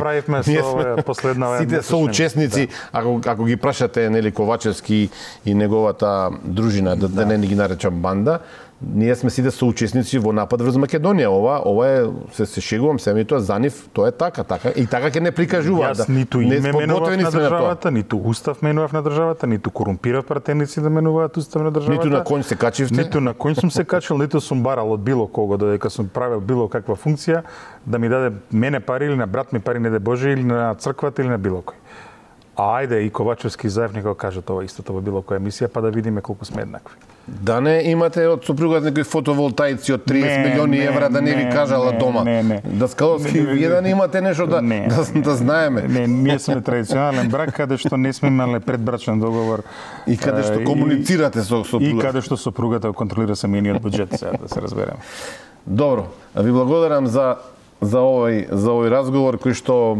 Сите соучесници, ако ги прашате нели Ковачевски и неговата дружина, да не ги наречам банда, ние сме сите соучесници во напад врз Македонија. Ова е, се шегувам, семи тоа за нив, тоа е така и така ќе не прикажуваат. Јас ниту име менував на државата, ниту устав менував на државата, ниту корумпирав пратеници да менуваат устав на државата. Ниту на конј се качивте. Ниту на конј сум се качил, ниту сум барал од било кого додека сум правил било каква функција да ми даде мене пари или на брат ми пари, не де Боже, или на црквата или на било кој. Ајде и Ковачевски и Заев нека кажат ова истото во било која емисија, па да видиме колку сме еднакви. Да не имате од супругот некои фотоволтаици од 30 милиони евра да не ви кажала дома. Даскаловски, вие да не имате нешто да знаеме. Не, ние сме традиционален брак каде што не сме имале предбрачен договор. И каде што комуницирате со супругата. И каде што супругата контролира семејниот буџет, сега да се разбереме. Добро, ви благодарам за овој разговор кој што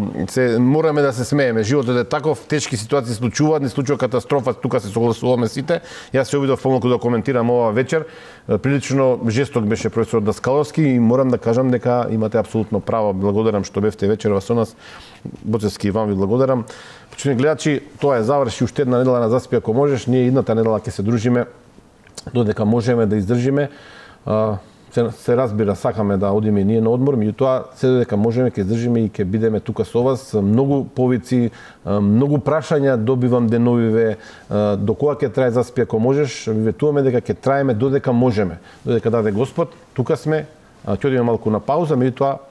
мораме да се смееме. Животот е таков, тешки ситуации случуваат, не случува катастрофа, тука се согласуваме сите. Јас се обидов помалку да коментирам ова вечер. Прилично жесток беше професор Даскаловски и морам да кажам дека имате апсолутно право. Благодарам што бевте вечерва со нас. Боцевски и вам ви благодарам. Почитувани гледачи, тоа е заврши уште една недела на Заспи ако можеш. Ние идната недела ќе се дружиме додека можеме да издржиме. Се разбира, сакаме да одиме и ние на одмор, меѓутоа се додека можеме ќе издржиме и ќе бидеме тука со вас. Многу повици, многу прашања добивам деновиве, до кога ќе трае Заспи ако можеш, ви ветуваме дека ќе траеме додека можеме. Додека даде Господ, тука сме, ќе одиме малку на пауза, меѓутоа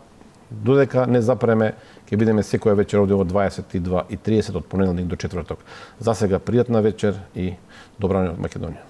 додека не запреме, ќе бидеме секоја вечер овде од 22:30 од понеделник до четврток. За сега пријатна вечер и добра ноќ од Македонија.